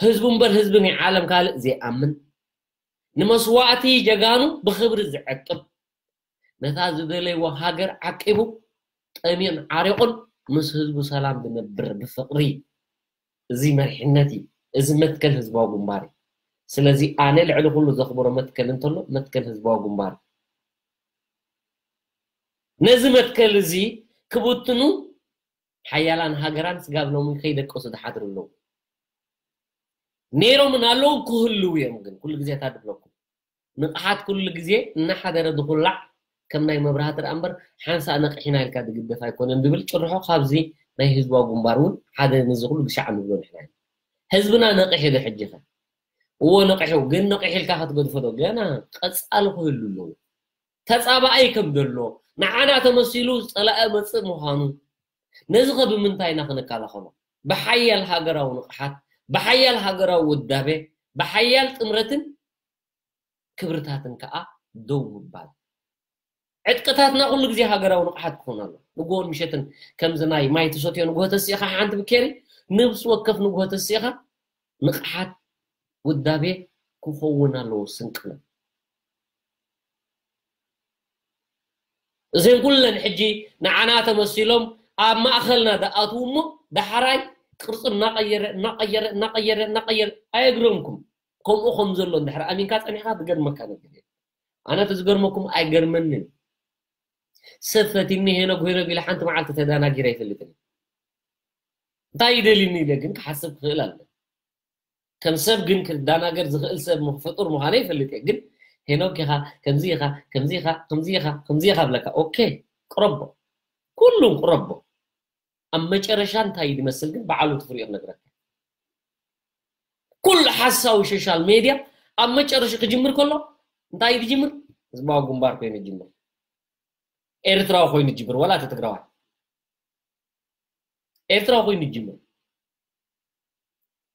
ህዝቡ እምበር ህዝቢ ናይ ዓለም ካልእ ዘይኣምን ንመስዋእቲ ጀጋኑ ብኽብሪ ዝዕቅብ ነታ ዝደለይዎ ሃገር ዓቂቡ ጠሚዩን ዓሪቑን ምስ ህዝቡ ሰላም ዝነብር ብፍቕሪ እዚ መሪሕነት እዩ። እዚ መትከል ህዝባዊ ግንባር እዩ። ስለዚ ኣነ ልዕሊ ኩሉ ዘኽብሮ መትከል እንተሎ መትከል ህዝባዊ ግንባር እዩ። ነዚ መትከል እዚ ክብትኑ ሓያላን ሃገራን ስጋብ ሎሚ ከይደቀሱ ዝሓድሩ ኣለዉ። ነይሮምን ኣለዉ ክህልዉ እዮም። ግን ኩሉ ግዜ እታ ድብለኩም ንቕሓት ኩሉ ግዜ እናሓደረ ዝኹላዕ ከም ናይ መብራህቲ ደኣ እምበር ሓንሳእ ነቕሒና ኢልካ ዝግደፍ ኣይኮነን ዝብል ጭርሖ ካብዚ ናይ ህዝባዊ ግንባር እውን ሓደ ነዚ ኩሉ ግሻዕ ንብሎ ንሕና ኢና። ህዝብና ነቒሑ ዶ ሕጂ ኸ? እዎ ነቒሑ፣ ግን ነቒሑ ኢልካ ክትገድፎ ዶ? ገና ቀጻሊ ክህሉ ኣለዎ። ተጻባኣይ ከም ዘሎ፣ ንዓና ተመሲሉ ጸላኢ መጽእ ምዃኑ፣ ነዚ ኸ ብምንታይ ኢና ክንከላኸሎ? ብሓያል ሃገራዊ ንቕሓት፣ ብሓያል ሃገራዊ ውዳቤ፣ ብሓያል ጥምረትን ክብርታትን ከኣ ደው ምባል። ዕጥቅታትና ኩሉ ግዜ ሃገራዊ ንቕሓት ክኾን ኣሎ። ንግሆን ምሸትን ከምዚ ናይ ማይ ትሰትዮ ንግሆ ተሲእኻ ሓንቲ ብኬሪ፣ ነብሲ ወከፍ ንግሆ ተሲእኻ ንቕሓት ውዳቤ ክኸውን ኣለዎ ስንቅና። እዘን ኩለን ሕጂ ንዓና ተመሲሎም ኣብ ማእኸልና ዝኣትዉ እሞ ዳሕራይ ቅርጹ እናቐየረ፣ እናቐየረ፣ እናቐየረ፣ እናቐየረ ኣየግረምኩም። ከምኡ ከም ዘሎ እንድሕር ኣሚንካ ጸኒሕካ ዝገርመካ ነገር የለን። ኣነ እቲ ዝገርመኩም ኣይገርመንን። ሰብ ፈቲኒ ሄኖግ ሄኖግ ኢለ ሓንቲ መዓልቲ ተዳናጊረ ኣይፈልጥን። እንታይ ይደልኒ ኢለ ግን ክሓስብ ክኽእል ኣለ። ከም ሰብ ግን ክዳናገር ዝኽእል ሰብ ምኽ-፣ ፍጡር ምዃነ ይፈልጥ እየ። ግን ሄኖክ ኢኻ፣ ከምዚ ኢኻ፣ ከምዚ ኢኻ፣ ከምዚ ኢኻ፣ ከምዚ ኢኻ ብለካ። ኦኬ፣ ቅረቦ። ኩሉም ቅረቦ። ኣብ መጨረሻ እንታይ እዩ ዝመስል ግን ብዓሉ ትፍሪኦ ክነግረካ። ኩሉ ሓሳዊ ሶሻል ሜድያ ኣብ መጨረሻ ክጅምር ከሎ እንታይ እዩ ዝጅምር? ህዝባዊ ግንባር ኮይኑ ይጅምር። ኤርትራዊ ኮይኑ ይጅምር፣ ዋላ እቲ ትግራዋይ። ኤርትራዊ ኮይኑ ይጅምር።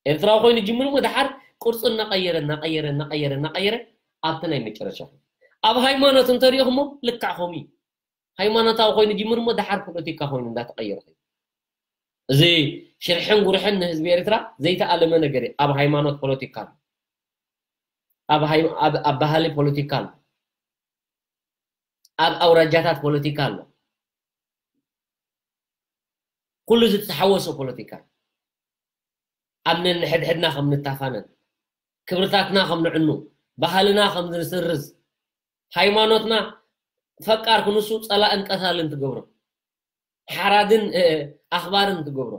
ኤርትራዊ ኮይኑ ይጅምር እሞ ደሓር ቅርጹ እናቐየረ፣ እናቐየረ፣ እናቐየረ፣ እናቐየረ ኣብቲ ናይ መጨረሻ። ኣብ ሃይማኖት እንተሪእኹሞ ልክዕ ከምኡ እዩ። ሃይማኖታዊ ኮይኑ ይጅምር እሞ ደሓር ፖለቲካ ኮይኑ እንዳተቐየረ ከይዱ። እዚ ሽርሕን ጉርሕን ንህዝቢ ኤርትራ ዘይተኣለመ ነገር እዩ። ኣብ ሃይማኖት ፖለቲካ ኣሎ። ኣብ ሃይ-፣ ኣብ፣ ኣብ ባህሊ ፖለቲካ ኣሎ። ኣብ ኣውራጃታት ፖለቲካ ኣሎ። ኩሉ ዝተሓወሶ ፖለቲካ። ኣብ ነንሕድሕድና ከም ንታፋነን፣ ክብርታትና ከም ንዕኑ፣ ባህልና ከም ንስርዝ፣ ሃይማኖትና ፈቃር ክንሱ ጸላእን ቀታልን ትገብሮ። ሓራድን፣ እ፣ ኣኽባርን ትገብሮ።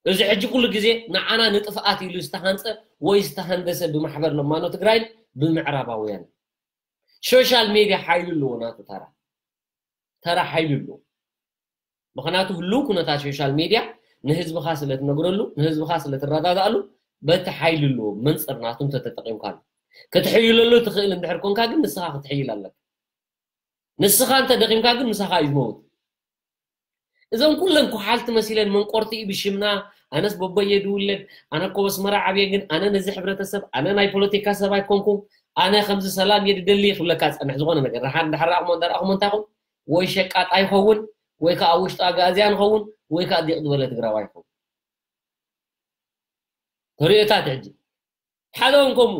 እዚ ሕጂ ኩሉ ግዜ ንዓና ንጥፍኣት ኢሉ ዝተሃንፀ ወይ ዝተሃንደሰ ብማሕበር ለማኖ ትግራይን ብምዕራባውያን። ሶሻል ሜድያ ሓይሉ ኣለዎ፣ ናቱ ተራ ተራ ሓይሉ ኣለዎ። ምክንያቱ ህልው ኩነታት ሶሻል ሜድያ ንህዝብኻ ስለ ትነግረሉ፣ ንህዝብኻ ስለ ትረዳዳእሉ፣ በቲ ሓይሉ ኣለዎ መንፅር ናቱ እንተተጠቂምካሉ። ክትሕይለሉ ትኽእል እንድሕር ኮንካ ግን ንስኻ ክትሕይል ኣለካ። ንስኻ እንተ ደኺምካ ግን ምሳኻ እዩ ዝመውት። እዞም ኩለን ኩሓልቲ መሲለን መንቆርቲ እዩ ብሽምና። ኣነስ በቦየ ድውለድ፣ ኣነ እኮ በስመራ ዓብየ፣ ግን ኣነ ነዚ ሕብረተሰብ፣ ኣነ ናይ ፖለቲካ ሰብ ኣይኮንኩ፣ ኣነ ከምዚ ሰላም እየ ድደሊ ክብለካ ዝጸንሕ ዝኾነ ነገር። ደሓር እንድሕር ረኣኹሞ እንዳረኣኹሞ እንታይ ይኹን፣ ወይ ሸቃጣ ይኸውን፣ ወይ ከዓ ኣብ ውሽጡ ኣጋእዝያን ይኸውን፣ ወይ ከዓ ዲቕ ዝበለ ትግራዋይ ይኸውን። ተርእዮታት ሕጂ ሓደ እውን ከምኡ፣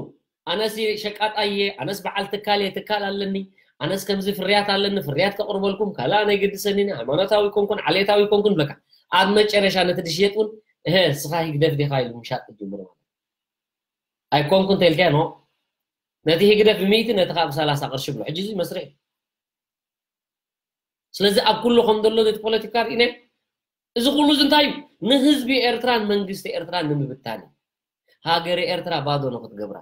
ኣነስ ሸቃጣ እየ፣ ኣነስ በዓል ትካል እየ፣ ትካል ኣለኒ፣ ኣነስ ከምዚ ፍርያት ኣለኒ፣ ፍርያት ከቕርበልኩም፣ ካልእ ኣነ ኣይገድሰኒን፣ ሃይማኖታዊ ኮንኩን ዓሌታዊ ኮንኩን ብለካ። ኣብ መጨረሻ ነቲ ድሽየጥ እውን፣ እህ፣ ንስኻ ህግደፍ ዲኻ ኢሉ ምሻጥ ትጅምር ማለት። ኣይኮንኩን ተልካ ኖ፣ ነቲ ህግደፍ ብሚእቲ፣ ነቲ ካብ ሰላሳ ቅርሺ ብሎ። ሕጂ እዚ መስርሕ። ስለዚ ኣብ ኩሉ ከም ዘሎ ነቲ ፖለቲካ ርኢነ፣ እዚ ኩሉ እዚ እንታይ እዩ? ንህዝቢ ኤርትራን መንግስቲ ኤርትራን ንምብታን እዩ። ሃገረ ኤርትራ ባዶ ንክትገብራ።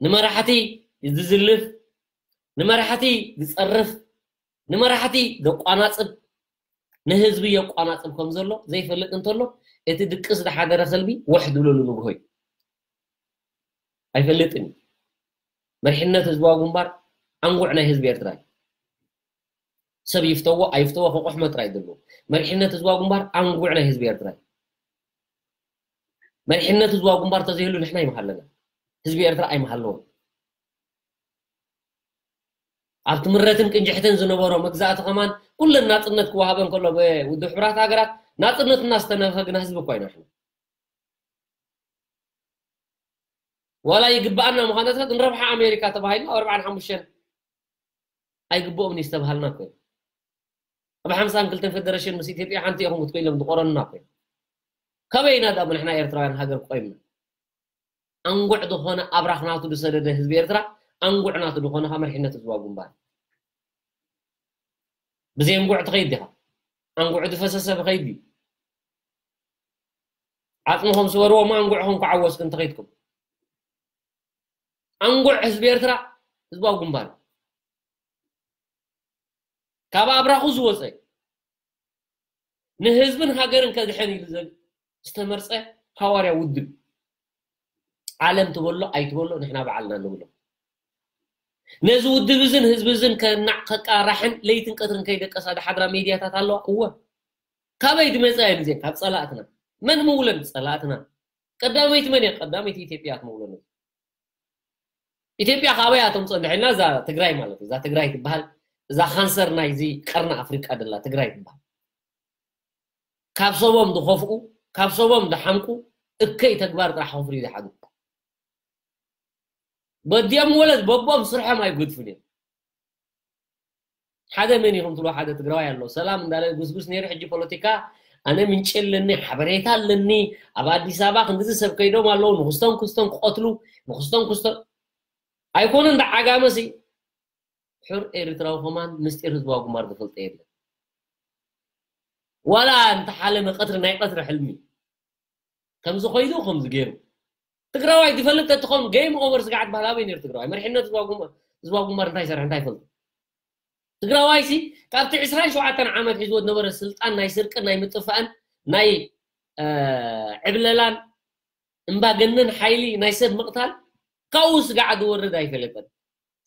ንመራሕቲ ዝዝልፍ፣ ንመራሕቲ ዝጸርፍ፣ ንመራሕቲ ዘቋናጽብ፣ ንህዝቢ የቋናጽብ ከም ዘሎ ዘይፈልጥ እንተሎ፣ እቲ ድቅስ ዝሓደረ ከልቢ ወሕ ዝብለሉ ንግሆ እዩ። ኣይፈልጥን እዩ። መሪሕነት ህዝባዊ ግንባር ኣንጉዕ ናይ ህዝቢ ኤርትራ እዩ። ሰብ ይፍተዎ ኣይፍተዎ ክቑሕሞ ጥራይ እዩ ዘለዎ። መሪሕነት ህዝባዊ ግንባር ኣንጉዕ ናይ ህዝቢ ኤርትራ እዩ። መሪሕነት ህዝባዊ ግንባር ተዘይህሉ ንሕና ኣይምሃለና። ህዝቢ ኤርትራ ኣይምሃለዎን። ኣብ ትምረትን ቅንጅሕትን ዝነበሮ መግዛእቲ ከማን ኩለን ናጽነት ክወሃበን ከሎ ብውድብ ሕቡራት ሃገራት ናጽነትና ዝተነፈግና ህዝቢ እኳ ኢና ንሕና። ዋላ ይግብኣና ምዃነታት ንረብሓ ኣሜሪካ ተባሂልና ኣብ ኣርባዓን ሓሙሽተን ኣይግብኦምን እዩ ዝተባሃልና እኮ እዩ። ኣብ ሓምሳን ክልተን ፌደሬሽን ምስ ኢትዮጵያ ሓንቲ ኢኹም ክትኮ ኢሎም ዝቆረኑና እኮ እዩ። ካበይ ኢና ዳሞ ንሕና ኤርትራውያን ሃገር ቆይምና? ኣንጉዕ ዝኾነ ኣብራኽ ናቱ ዝሰደደ ህዝቢ ኤርትራ፣ ኣንጉዕ ናቱ ዝኾነ ካብ መሪሕነት ህዝባዊ ግንባር። ብዘይ ኣንጉዕ ትኸይድ ዲኻ? ኣንጉዕ ዝፈሰሰ ብኸይድ እዩ። ዓጽምኹም ስበርዎ እሞ ኣንጉዕኹም ክዓወስኩም እንተኸይድኩም። ኣንጉዕ ህዝቢ ኤርትራ ህዝባዊ ግንባር እዩ። ካብ ኣብራኹ ዝወፀ ንህዝብን ሃገርን ከድሕን ኢሉ ዘል-፣ ዝተመርፀ ሃዋርያ ውድብ። ዓለም ትበሎ ኣይትበሎ ንሕና ባዕልና ንብሎ። ነዚ ውድብ እዝን ህዝቢ እዝን ከናዕ ከቃራሕን ለይትን ቀትርን ከይደቀሳ ዝሓድራ ሜድያታት ኣለዋ። እወ። ካበይ ዝመፃ እየን እዚአን? ካብ ፀላእትና። መን ምውለን? ፀላእትና። ቀዳመይቲ መን እያ? ቀዳመይቲ ኢትዮጵያ እያ ትምውለን። ኢትዮጵያ ካበይ እያ ተምፅኦ እንድሕር ኢልና እዛ ትግራይ ማለት እዩ። እዛ ትግራይ ትበሃል፣ እዛ ካንሰር ናይዚ ቀርኒ ኣፍሪቃ ደላ ትግራይ ትበሃል። ካብ ሰቦም ዝኸፍኡ፣ ካብ ሰቦም ዝሓምቁ እከይ ተግባር ጥራሕ ከፍርዩ ዝሓድሩ። በዲኦም ወለድ በቦም ስርሖም ኣይጎድፉን እዮም። ሓደ መን ኢኹም ትብሎ ሓደ ትግራዋይ ኣሎ። ሰላም እንዳለ ጉስጉስ ነይሩ፣ ሕጂ ፖለቲካ ኣነ ምንጪ ኣለኒ፣ ሓበሬታ ኣለኒ፣ ኣብ ኣዲስ ኣበባ ክንድዚ ሰብ ከይዶም ኣለዉ፣ ንክስቶን ክስቶን ክቐትሉ፣ ንክስቶን ክስቶን ኣይኮነን። ዳ ዓጋመ ሲ ሕር ኤርትራዊ ከማን ምስጢር ህዝባዊ ግንባር ዝፈልጦ የለን። ዋላ እንተሓለመ ቀትሪ ናይ ቀትሪ ሕልሚ ከምዚ ኮይዱ ከምዚ ገይሩ ትግራዋይ ዝፈልጥ ተትኾን ጌም ኦቨር ስጋዕ ትበሃል ኣበይ ነይሩ ትግራዋይ? መሪሕነት ህዝባዊ ግንባር፣ ህዝባዊ ግንባር እንታይ ይሰርሕ እንታይ ይፈልጡ? ትግራዋይ ሲ ካብቲ ዕስራን ሸውዓተን ዓመት ሒዝዎ ዝነበረ ስልጣን ናይ ስርቅን ናይ ምጥፋእን ናይ፣ እ፣ ዕብለላን እምባገነን ሓይሊ ናይ ሰብ ምቕታል ካብኡ ስጋዕ ዝወርድ ኣይፈለጠን።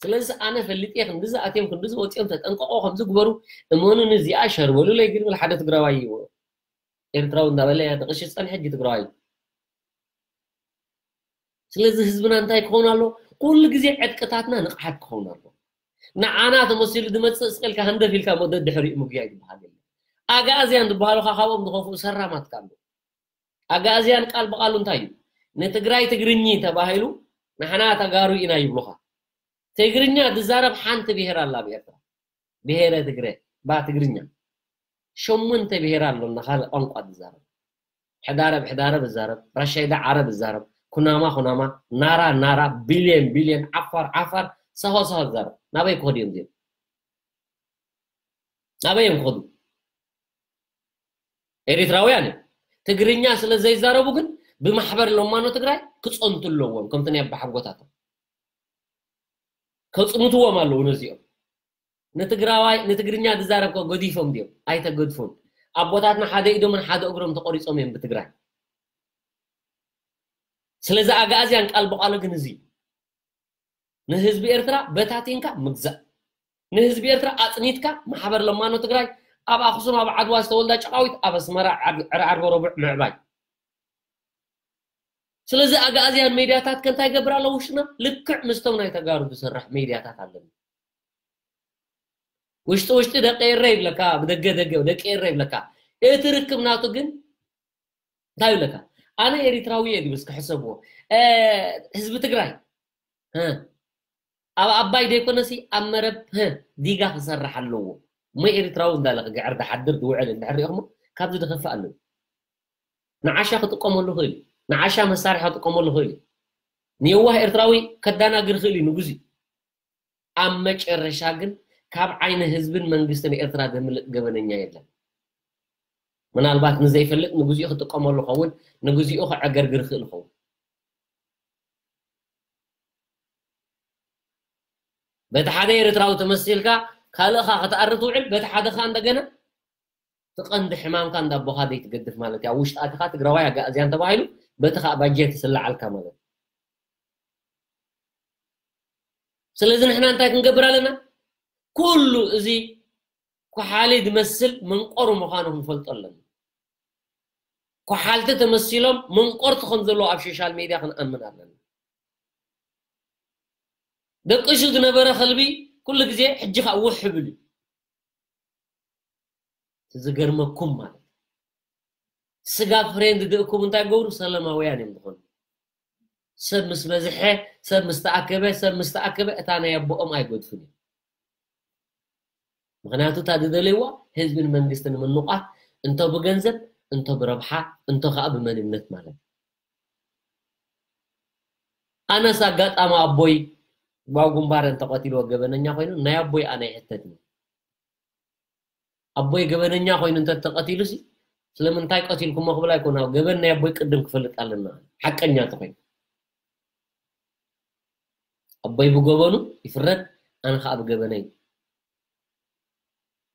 ስለዚ ኣነ ፈሊጠ ክንድዚ ኣትዮም ክንድዚ ወፂኦም ተጠንቀቆ ከምዚ ግበሩ እመኑኒ እዚኣ ሸርበሉለይ ግን ብል ሓደ ትግራዋይ እዩ። ኤርትራዊ እንዳበለ እያ ተቐሺ ዝፀንሐ ሕጂ ትግራዋይ። ስለዚ ህዝብና እንታይ ክኸውን ኣሎ? ኩሉ ግዜ ዕጥቅታትና ንቕሓት ክኸውን ኣሎ። ንዓና ተመሲሉ ዝመፅእ ስቕ ኢልካ ህንደፍ ኢልካ ሞ ደድሕሪኡ ምግያይ ዝበሃል የለን። ኣግኣዝያን ዝበሃሉ ኸዓ ካብኦም ዝኸፍኡ ሰራማት ካሉ። ኣግኣዝያን ቃል ብቃሉ እንታይ እዩ? ንትግራይ ትግርኚ ተባሂሉ ንሕና ተጋሩ ኢና ይብሉኻ። ትግርኛ ዝዛረብ ሓንቲ ብሄር ኣላ ኣብ ኤርትራ። ብሄረ ትግረ፣ ባ ትግርኛ። ሸሞንተ ብሄር ኣሎ እና ካልእ ቋንቋ ዝዛረብ። ሕዳረብ ሕዳረብ እዛረብ፣ ራሻይዳ ዓረብ እዛረብ፣ ኩናማ ኩናማ፣ ናራ ናራ፣ ቢልየን ቢልየን፣ ዓፋር ዓፋር፣ ሳሆ ሳሆ እዛረብ። ናበይ ክኸዱ እዮም እዚኦም? ናበይ እዮም ክኸዱ? ኤሪትራውያን እዮም። ትግርኛ ስለ ዘይዛረቡ ግን ብማሕበር ለማኖ ትግራይ ክፀንቱ ኣለዎም። ከምቲ ናይ ኣባሓጎታቶም ከፅምትዎም ኣለዉ። ነዚኦም ንትግራዋይ ንትግርኛ ዝዛረብ ከ ገዲፎም ድዮም? ኣይተገድፉን። ኣቦታትና ሓደ ኢዶምን ሓደ እግሮም ተቆሪፆም እዮም ብትግራይ። ስለዚ ኣግኣዝያን ቃል ብቃሉ ግን እዚ ንህዝቢ ኤርትራ በታቲንካ ምግዛእ፣ ንህዝቢ ኤርትራ ኣጽኒትካ ማሕበር ለማኖ ትግራይ ኣብ ኣኽሱም ኣብ ዓድዋ ዝተወልዳ ጨቃዊት ኣብ ኣስመራ ዕርዓርቦ ረቡዕ ምዕባይ። ስለዚ ኣግኣዝያን ሜድያታት ከንታይ ገብር ኣለዎ ውሽጥና ልክዕ ምስቶም ናይ ተጋሩ ዝሰርሕ ሜድያታት ኣለና። ውሽጢ ውሽጢ ደቂ ኤረ ይብለካ፣ ብደገ ደገ ደቂ ኤረ ይብለካ። እቲ ርክብ ናቱ ግን እንታይ ይብለካ? ኣነ ኤሪትራዊ እየ ድብል እስኪ ሕሰብዎ። ህዝቢ ትግራይ ኣብ ኣባይ ዘይኮነሲ ኣብ መረብ ዲጋ ክሰርሕ ኣለዎ። እሞ ኤሪትራዊ እንዳለ ክግዕር ድሓድር ድውዕል እንድሕር ሪኦሞ ካብዚ ድኸፍእ ኣለዎ። ንዓሻ ክጥቀመሉ ክእል እዩ። ንዓሻ መሳርሒ ክጥቀመሉ ክእል እዩ። ንየዋህ ኤርትራዊ ከዳናግር ክእል እዩ ንጉዚ። ኣብ መጨረሻ ግን ካብ ዓይኒ ህዝብን መንግስትን ኤርትራ ዘምልጥ ገበነኛ የለን። ምናልባት ንዘይፈልጥ ንግዚኡ ክጥቀመሉ ኸውን፣ ንግዚኡ ክዕገርግር ይኽእል ኸውን። በቲ ሓደ ኤርትራዊ ተመሲልካ ካልእኻ ክትኣሪ ትውዕል፣ በቲ ሓደ ኸኣ እንደገና እቲ ቀንዲ ሕማምካ እንዳ ኣቦኻ ዘይትገድፍ ማለት እዩ። ኣብ ውሽጢ ኣቲኻ ትግራዋይ ኣጋእዝያን ተባሂሉ በቲ ኸኣ ባጀት ይስላዓልካ ማለት እዩ። ስለዚ ንሕና እንታይ ክንገብር ኣለና? ኩሉ እዚ ኩሓሊ ዝመስል መንቆር ምዃኑ ክንፈልጦ ኣለና። ኩሓልቲ ተመሲሎም መንቆርቲ ከም ዘለዉ ኣብ ሶሻል ሜድያ ክንኣምን ኣለና። ደቂሱ ዝነበረ ከልቢ ኩሉ ግዜ ሕጂ ከዓ ውሕ ይብል እዩ። ዝገርመኩም ማለት ስጋ ፍሬንድ ድእኩም እንታይ ገብሩ ሰላማውያን እዮም ዝኾኑ። ሰብ ምስ በዝሐ ሰብ ምስ ተኣከበ ሰብ ምስ ተኣከበ እታ ናይ ኣቦኦም ኣይገድፉን እዮም። ምክንያቱ እታ ዝደለይዋ ህዝብን መንግስትን ምንቋት እንቶ ብገንዘብ እንቶ ብረብሓ እንቶ ከዓ ብመንነት ማለት እዩ። ኣነስ ኣጋጣሚ ኣቦይ ባው ግንባር እንተቀቲልዎ ገበነኛ ኮይኑ ናይ ኣቦይ ኣነ ይሕተትኒ። ኣቦይ ገበነኛ ኮይኑ እንተተቀቲሉ ሲ ስለምንታይ ቀቲልኩሞ ክብል ኣይኮን። ኣብ ገበን ናይ ኣቦይ ቅድም ክፈልጥ ኣለና። ሓቀኛ ተኮይኑ ኣቦይ ብገበኑ ይፍረድ፣ ኣነ ከዓ ብገበነይ።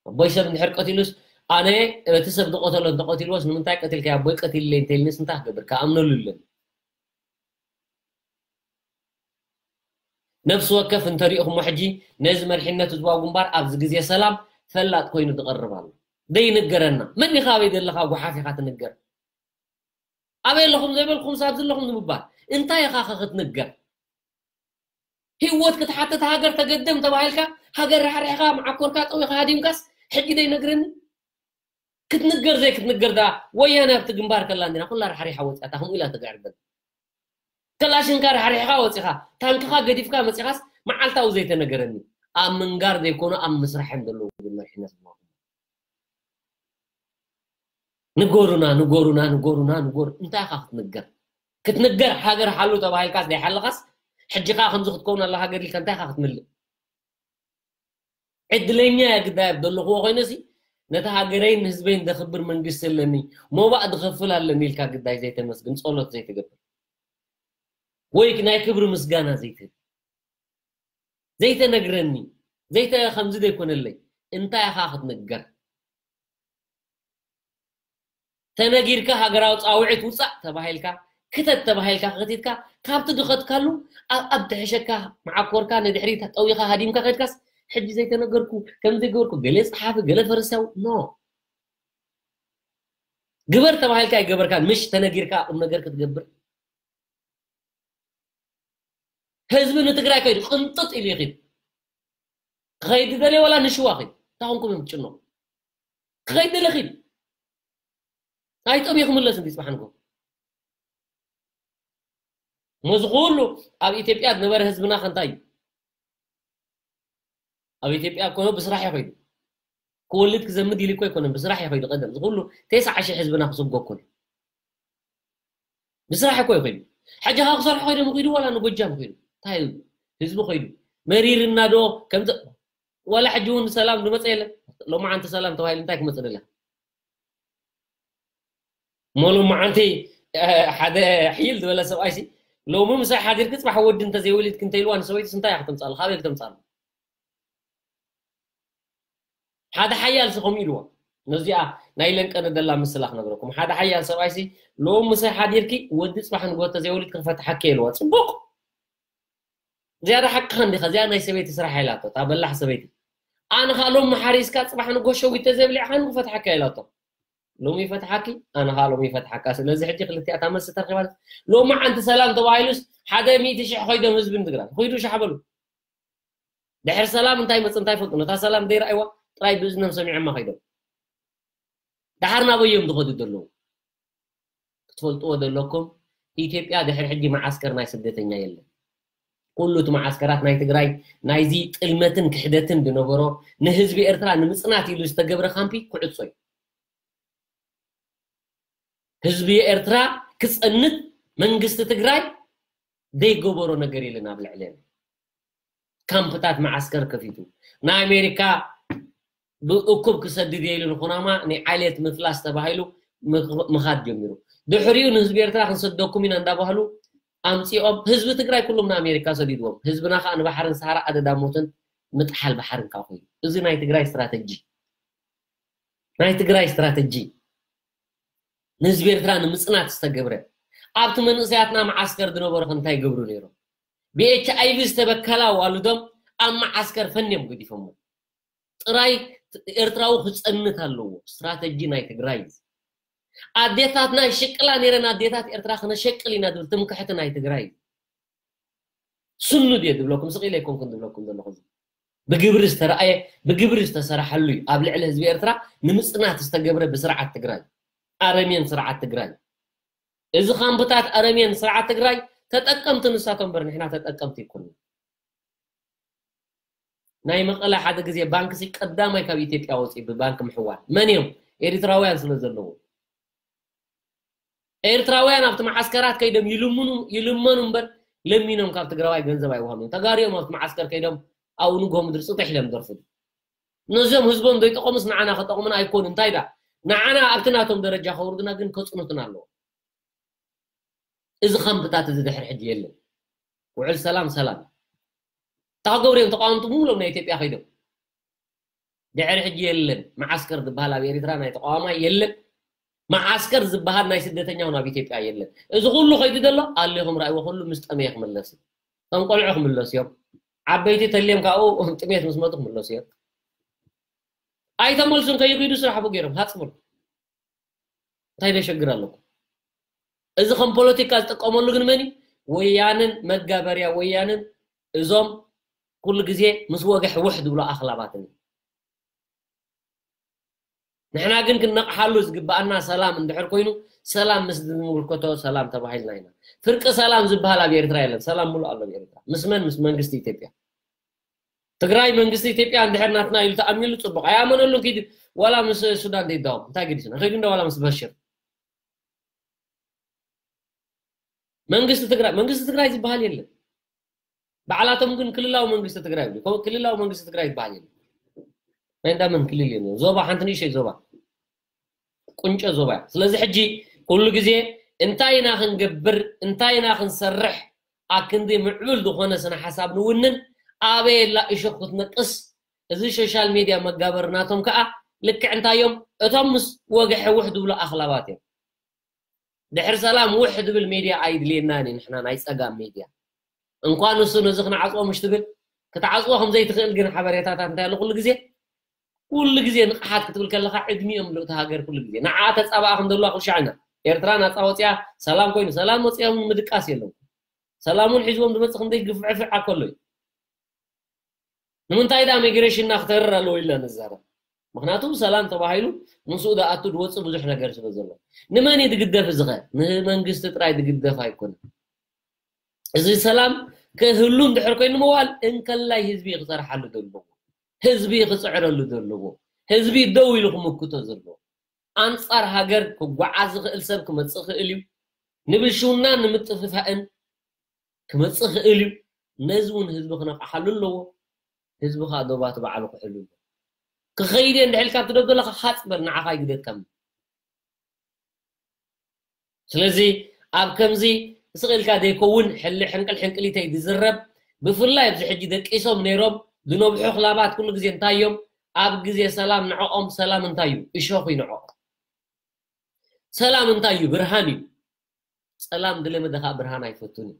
ኣቦይ ሰብ እንድሕር ቀቲሉስ ኣነ እቲ ሰብ ዝቀተሎ እንተቀቲልዎስ ንምንታይ ቀቲልካ ኣቦይ ቀቲልለይ እንተልንስ እንታይ ክገብር ክኣምነሉ ኣለኒ። ነፍሲ ወከፍ እንተሪእኹሞ ሕጂ ነዚ መሪሕነት ህዝባዊ ግንባር ኣብዚ ግዜ ሰላም ፈላጥ ኮይኑ ዝቐርብ ኣሎ። ዘይንገረና መን ኢኻ ኣበይ ዘለኻ ጓሓፍ ኢኻ ትንገር። ኣበይ ኣለኹም ዘይበልኩም ሳብ ዘለኹም ንምባል እንታይ ኢኻ ከ ክትንገር? ህይወት ክትሓትት ሃገር ተገደም ተባሂልካ ሃገር ራሕሪሕኻ መዓኮርካ ጠዊኻ ሃዲምካስ ሕጂ ዘይነግረኒ ክትንገር ዘይክትንገር ዳ ወያነ ኣብቲ ግንባር ከላ እንዲና ኩላ ራሕሪሓ ወፂኣታ ከምኡ ኢላ ትግዕርበል። ከላሽንካ ራሕሪሕኻ ወፂኻ ታንክኻ ገዲፍካ መፂኻስ መዓልታዊ ዘይተነገረኒ ኣብ ምንጋር ዘይኮኑ ኣብ ምስራሕ እዮም ዘለዉ ግን መሪሕነት ንጎሩና ንጎሩና ንጎሩና ንጎር እንታይ ኢኻ ክትንገር ክትንገር ሃገር ሓሉ ተባሂልካስ ዘይሓለኻስ ሕጂ ከዓ ከምዚ ክትከውን ኣላ ሃገር ኢልካ እንታይ ኢኻ ክትምልእ ዕድለኛ እየ ግዳይ ኣብ ዘለኽዎ ኮይነሲ ነቲ ሃገረይን ንህዝበይን ዘኽብር መንግስቲ ኣለኒ ሞባእ ዝኸፍል ኣለኒ ኢልካ ግዳይ ዘይተመስግን ጸሎት ዘይትገብር ወይ ናይ ክብሪ ምስጋና ዘይትህብ ዘይተነግረኒ ዘይተ ከምዚ ዘይኮነለይ እንታይ ኢኻ ክትንገር ተነጊርካ ሃገራዊ ፃውዒት ውፃእ ተባሂልካ ክተት ተባሂልካ ከቲትካ ካብቲ ድኸትካሉ ኣብ ኣብ ትሕሸካ መዓኮርካ ንድሕሪት ጠዊኻ ሃዲምካ ከድካስ ሕጂ ዘይተነገርኩ ከም ዘይገበርኩ ገለ ፀሓፊ ገለ ፈሪሳዊ ኖ ግበር ተባሂልካ ኣይገበርካን ምሽ ተነጊርካ ቁም ነገር ክትገብር ህዝቢ ንትግራይ ከይዱ ቅንጥጥ ኢሉ ይኺድ ክኸይድ ዝደልየ ዋላ ንሽዋ ኺድ እንታይ ኾንኩም እዮም ትጭነቁ ክኸይድ ደለ ኺድ ኣይጦም ይኽምለስ እንዲ ፅባሕ ንጎ ሞዚ ኩሉ ኣብ ኢትዮጵያ ዝነበረ ህዝብና ከንታይ እዩ ኣብ ኢትዮጵያ ኮኖ ብስራሕ ይኸይዱ ክወልድ ክዘምድ ኢሉ እኮ ኣይኮነን ብስራሕ ይኸይዱ ቀደም ዝኩሉ ተስዓ ሺሕ ህዝብና ክስጎ እኮ ብስራሕ እኮ ይኸይዱ ሕጂ ካ ክሰርሑ ከይዶም ይኸይዱ ዋላ ንጎጃም ይኸይዱ እንታይ ህዝቢ ኸይዱ መሪርና ዶ ከምዚ ዋላ ሕጂ እውን ሰላም ዝመፀ የለን ሎማዓንቲ ሰላም ተባሂሉ እንታይ ክመፅእ ደለ ሞሎ መዓንቲ ሓደ ሕይል ዝበለ ሰብኣይሲ ሎሚ ምሳይ ሓዲርክ ፅባሕ ወዲ እንተዘይወሊድክ እንተኢልዋ ንሰበይትስ እንታይ እያ ክተምፃሉ? ካበይ ክተምፃሉ? ሓደ ሓያል ሲ ከምኡ ኢልዋ። ነዚኣ ናይ ለንቀነ ደላ ምስላ ክነግረኩም። ሓደ ሓያል ሰብኣይሲ ሎም ምሳይ ሓዲርኪ ወዲ ፅባሕ ንጎ ተዘይወሊድኪ ክፈትሓኪ ኢልዋ። ፅቡቕ። ዝያዳ ሓቅኻ እንዲኻ። እዚኣ ናይ ሰበይቲ ስራሕ ኢላቶ። እታ በላሕ ሰበይቲ። ኣነ ኸኣ ሎም መሓሪስካ ፅባሕ ንጎ ሸዊት ተዘይብሊዕኻኒ ክፈትሓኪ ኢላቶ። ሎሚ ይፈትሓኪ፣ ኣነ ኸኣ ሎሚ ይፈትሓካ። ስለዚ ሕጂ ክልቲኣታ መልሲ ተረኺባ። ሎሚ ዓንቲ ሰላም ተባሂሉስ ሓደ ሚእቲ ሽሕ ኸይዶም ህዝቢ ንትግራይ። ኹይዱ ሻሕ በሉ። ድሕሪ ሰላም እንታይ መጽ እንታይ ፈልጡ። ነታ ሰላም ደይረኣይዋ ጥራይ ብእዝኖም ሰሚዖማ ከይዶም። ደሓር ናበይ እዮም ዝኸዱ ዘለዉ? ክትፈልጥዎ ዘለኩም ኢትዮጵያ ድሕሪ ሕጂ መዓስከር ናይ ስደተኛ የለን። ኩሉ እቲ መዓስከራት ናይ ትግራይ ናይዚ ጥልመትን ክሕደትን ዝነበሮ ንህዝቢ ኤርትራ ንምጽናት ኢሉ ዝተገብረ ካምፒ ክዕጾ እዩ። ህዝቢ ኤርትራ ክጸንት መንግስቲ ትግራይ ዘይገበሮ ነገር የለን ኣብ ልዕሌና። ካምፕታት መዓስከር ከፊቱ ንኣሜሪካ ብእኩብ ክሰድድ ኢሉ ንኩናማ ናይ ዓሌት ምፍላስ ተባሂሉ ምኽ- ምኻድ ጀሚሩ። ድሕሪኡ ንህዝቢ ኤርትራ ክንሰደኩም ኢና እንዳባህሉ ኣምፂኦም ህዝቢ ትግራይ ኩሎም ንኣሜሪካ ሰዲድዎም። ህዝብና ከዓ ንባሕርን ሰሃራ ኣደዳ ሞትን ምጥሓል ባሕርን ከዓ ኮይኑ እዚ ናይ ትግራይ ስትራተጂ ናይ ትግራይ ስትራተጂ ንህዝቢ ኤርትራ ንምፅናት ዝተገብረ ኣብቲ መንእሰያትና መዓስከር ዝነበሩ ከ እንታይ ይገብሩ ነይሮም? ብኤች ኣይቪ ዝተበከላ ዋልዶም ኣብ መዓስከር ፈንዮም ገዲፎሞ። ጥራይ ኤርትራዊ ክፀንት ኣለዎ። ስትራተጂ ናይ ትግራይ እዩ። ኣዴታትና ይሽቅላ ነይረን፣ ኣዴታት ኤርትራ ክነሸቅል ኢና ዝብል ትምክሕቲ ናይ ትግራይ እዩ። ስኑ ድየ ዝብለኩም ስቕ ኢለ ኣይኮንኩን ዝብለኩም ዘለኹ። እዚ ብግብሪ ዝተረኣየ ብግብሪ ዝተሰረሐሉ እዩ። ኣብ ልዕሊ ህዝቢ ኤርትራ ንምፅናት ዝተገብረ ብስርዓት ትግራይ፣ ኣረሜን ስርዓት ትግራይ። እዚ ካምፕታት ኣረሜን ስርዓት ትግራይ ተጠቀምቲ ንሳቶም እምበር ንሕና ተጠቀምቲ ይኮኑ። ናይ መቐለ ሓደ ግዜ ባንክ ሲ ቀዳማይ ካብ ኢትዮጵያ ወፂኡ ብባንክ ምሕዋል መን እዮም? ኤሪትራውያን ስለ ዘለዎ። ኤርትራውያን ኣብቲ መዓስከራት ከይዶም ይልምኑ ይልመኑ እምበር ለሚኖም ካብ ትግራዋይ ገንዘብ ኣይወሃሉን። ተጋሩ እዮም ኣብቲ መዓስከር ከይዶም ኣብኡ ንግሆ ምድሪ ፅጥሕ ኢሎም ደርፍሉ። ነዞም ህዝቦም ዘይጠቐሙስ ንዓና ከጠቕሙና ኣይኮኑ። እንታይ ዳ ንዓና ኣብቲ ናቶም ደረጃ ከውርዱና ግን ከፅኑትና ኣለዎ። እዚ ካምፕታት እዚ ድሕሪ ሕጂ የለን። ውዕል ሰላም ሰላም። እንታይ ክገብሩ እዮም ተቃወምቲ ብምሎም ናይ ኢትዮጵያ ከይዶም? ድሕሪ ሕጂ የለን። መዓስከር ዝበሃል ኣብ ኤርትራ ናይ ተቃዋማይ የለን። መዓስከር ዝበሃል ናይ ስደተኛ እውን ኣብ ኢትዮጵያ የለን። እዚ ኩሉ ከይዱ ዘሎ ኣሌኹም ረኣይዎ ኩሉ ምስ ጠመየ ክምለስ እዩ። እቶም ቆልዑ ክምለሱ እዮም። ዓበይቲ ተልዮም ካብኡ ጥሜት ምስ መጡ ክምለሱ እዮም። ኣይተመልሱን ከይኪዱ ስራሕ ብገይሮም ሃፅብሉ። እንታይ ደሸግር ኣለኩም? እዚ ከም ፖለቲካ ዝጥቀመሉ ግን መን እዩ? ወያንን መጋበርያ ወያንን እዞም ኩሉ ግዜ ምስ ወግሕ ውሕ ዝብሉ ኣኽላባትን እዩ። ንሕና ግን ክንነቕሓሉ ዝግባኣና ሰላም እንድሕር ኮይኑ ሰላም ምስ ዝምልከቶ ሰላም ተባሂልና ኢና። ፍርቂ ሰላም ዝበሃል ኣብ ኤርትራ የለን። ሰላም ሙሉእ ኣሎ ኣብ ኤርትራ። ምስ መን? ምስ መንግስቲ ኢትዮጵያ። ትግራይ መንግስቲ ኢትዮጵያ እንድሕር ናትና ኢሉ ተኣሚሉ ፅቡቕ። ኣይኣመነሉን ኪድ ዋላ ምስ ሱዳን ዘይዳወም እንታይ ገዲስና? ከይዱ እንዳ ዋላ ምስ በሽር መንግስቲ ትግራይ መንግስቲ ትግራይ ዝበሃል የለን። ባዕላቶም ግን ክልላዊ መንግስቲ ትግራይ ይብሉ። ክልላዊ መንግስቲ ትግራይ ዝበሃል የለን። ናይ እንዳመን ክልል የለን። ዞባ ሓንቲ ንእሽተይ ዞባ ቁንጮ ዞባ እያ። ስለዚ ሕጂ ኩሉ ግዜ እንታይ ኢና ክንገብር እንታይ ኢና ክንሰርሕ ኣክንዲ ምዕቡል ዝኾነ ስነ ሓሳብ ንውንን ኣበየላ እሾክ ክትነቅስ እዚ ሶሻል ሜድያ መጋበሪ ናቶም ከዓ ልክዕ እንታዮም እቶም ምስ ወግሐ ውሕ ዝብሉ ኣኽላባት እዮም። ድሕሪ ሰላም ውሕ ዝብል ሜድያ ኣይድልየናን እዩ። ንሕና ናይ ፀጋም ሜድያ እንኳን እሱ ነዚ ክንዓፅዎ ምሽ ትብል ክትዓፅዎ ከምዘይትኽእል ግን ሓበሬታታት እንታይ ኣሎ ኩሉ ግዜ ኩሉ ግዜ ንቕሓት ክትብል ከለካ ዕድሚኦም ልእቲ ሃገር ኩሉ ግዜ ንዓ ተፃባኣ ከም ዘለዋ ኩሉ ሻዕና ኤርትራ ናፃ ወፅያ ሰላም ኮይኑ ሰላም ወፅዮም ምድቃስ የለውም። ሰላሙን ሒዝዎም ዝመፅእ ክንደይ ግፍዕፍዕ ኣከሎ እዩ። ንምንታይ ዳ ሚግሬሽንና ክተርር ኣለዎ ኢልና ንዛረብ? ምክንያቱ ሰላም ተባሂሉ ምስኡ ዝኣቱ ዝወፅእ ብዙሕ ነገር ስለ ዘሎ። ንመን እዩ ዝግደፍ እዚ ኸ? ንመንግስቲ ጥራይ ዝግደፍ ኣይኮነን። እዚ ሰላም ክህሉ እንድሕር ኮይኑ ምዋል እንከላይ ህዝቢ እዩ ክፀርሓሉ ዘለዎ። ህዝቢ እዩ ክፅዕረሉ ዘለዎ። ህዝቢ እዩ ደው ኢሉ ክምክቶ ዘለዎ። ኣንፃር ሃገር ክጓዓዝ ዝኽእል ሰብ ክመፅእ ክእል እዩ። ንብልሽውናን ንምጥፍፋእን ክመፅእ ክእል እዩ። ነዚ እውን ህዝቢ ክነቕሓሉ ኣለዎ። ህዝቢ ከዓ ዶባቱ ባዕሉ ክሕሉ ኣለዎ። ክኸይድ እየ እንድሕር ኢልካ ኣብቲ ደብ ዘለኻ ሃፅ በል ንዓኻ ኣይግደድካ። ስለዚ ኣብ ከምዚ ስቕ ኢልካ ዘይከውን ሕሊ ሕንቅል ሕንቅሊተይ ዝዝረብ፣ ብፍላይ ኣብዚ ሕጂ ደቂሶም ነይሮም ዝነብሑ ክላባት ኩሉ ግዜ እንታይ እዮም? ኣብ ግዜ ሰላም ንዕኦም ሰላም እንታይ እዩ? እሾኽ እዩ ንዕኦም። ሰላም እንታይ እዩ? ብርሃን እዩ። ጸላም ዝለመደ ኸኣ ብርሃን ኣይፈቱን እዩ።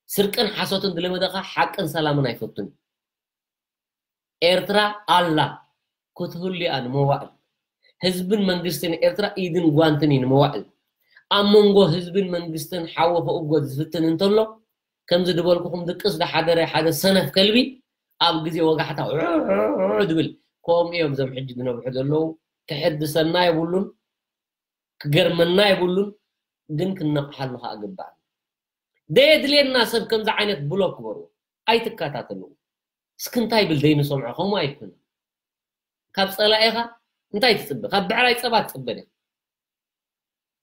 ስርቅን ሓሶትን ዝለመደ ኸኣ ሓቅን ሰላምን ኣይፈቱን እዩ። ኤርትራ ኣላ ክትህሉ እያ ንመዋእል። ህዝብን መንግስትን ኤርትራ ኢድን ጓንትን እዩ ንመዋእል። ኣብ መንጎ ህዝብን መንግስትን ሓዊ ክእጎድ ዝፍትን እንተሎ፣ ከምዚ ዝበልኩኹም ድቅስ ዝሓደረ ሓደ ሰነፍ ከልቢ ኣብ ግዜ ወጋሕታ ዑዑዑ ድብል። ከምኡ እዮም እዞም ሕጂ ዝነብሑ ዘለዉ። ክሕድሰና የብሉን፣ ክገርመና የብሉን፣ ግን ክንነቕሓሉ ኸኣ ግባእ። ደየድልየና ሰብ ከምዚ ዓይነት ብሎክ ክበርዎ ኣይትከታተልዎ። እስኪ እንታይ ይብል ዘይንሰምዖ ከምኡ ኣይኮነ። ካብ ጸላኢኻ እንታይ ትጽበ? ካብ ብዕራይ ጸባ ትጽበ ዲኻ?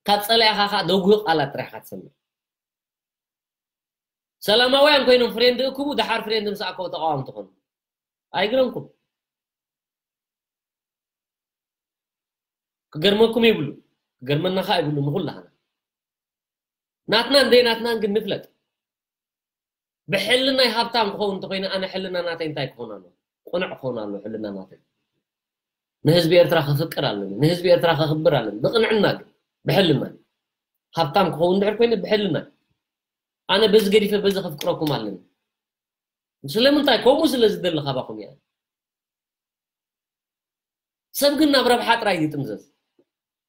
ካብ ጸላኢኻ ኸኣ ደጉህ ቃላት ጥራሕ ኢኻ ትሰምዕ። ሰላማውያን ኮይኖም ፍሬንድ እክቡ፣ ደሓር ፍሬንድ ምስ ኣከቡ ተቃዋምቲ ኾኑ። ኣይግረምኩም። ክገርመኩም ይብሉ፣ ክገርመና ኸኣ ይብሉ ንኹላህና። ናትናን ዘይናትናን ግን ንፍለጥ። ብሕልናይ ሃብታም ክኸውን እንተኾይነ ኣነ ሕልና ናተይ እንታይ ክኸውን ኣለዎ? ቅኑዕ ክኸውን ኣለዎ ሕልና ናተይ። ንህዝቢ ኤርትራ ከፍቅር ኣለኒ፣ ንህዝቢ ኤርትራ ከኽብር ኣለኒ። ብቕንዕና ግን፣ ብሕልና። ሃብታም ክኸውን እንድሕር ኮይነ ብሕልና። ኣነ በዚ ገዲፈ በዚ ከፍቅረኩም ኣለኒ። ስለምንታይ? ከምኡ ስለ ዝደሊ ካባኹም እየ። ሰብ ግን ናብ ረብሓ ጥራይ ይጥምዘዝ።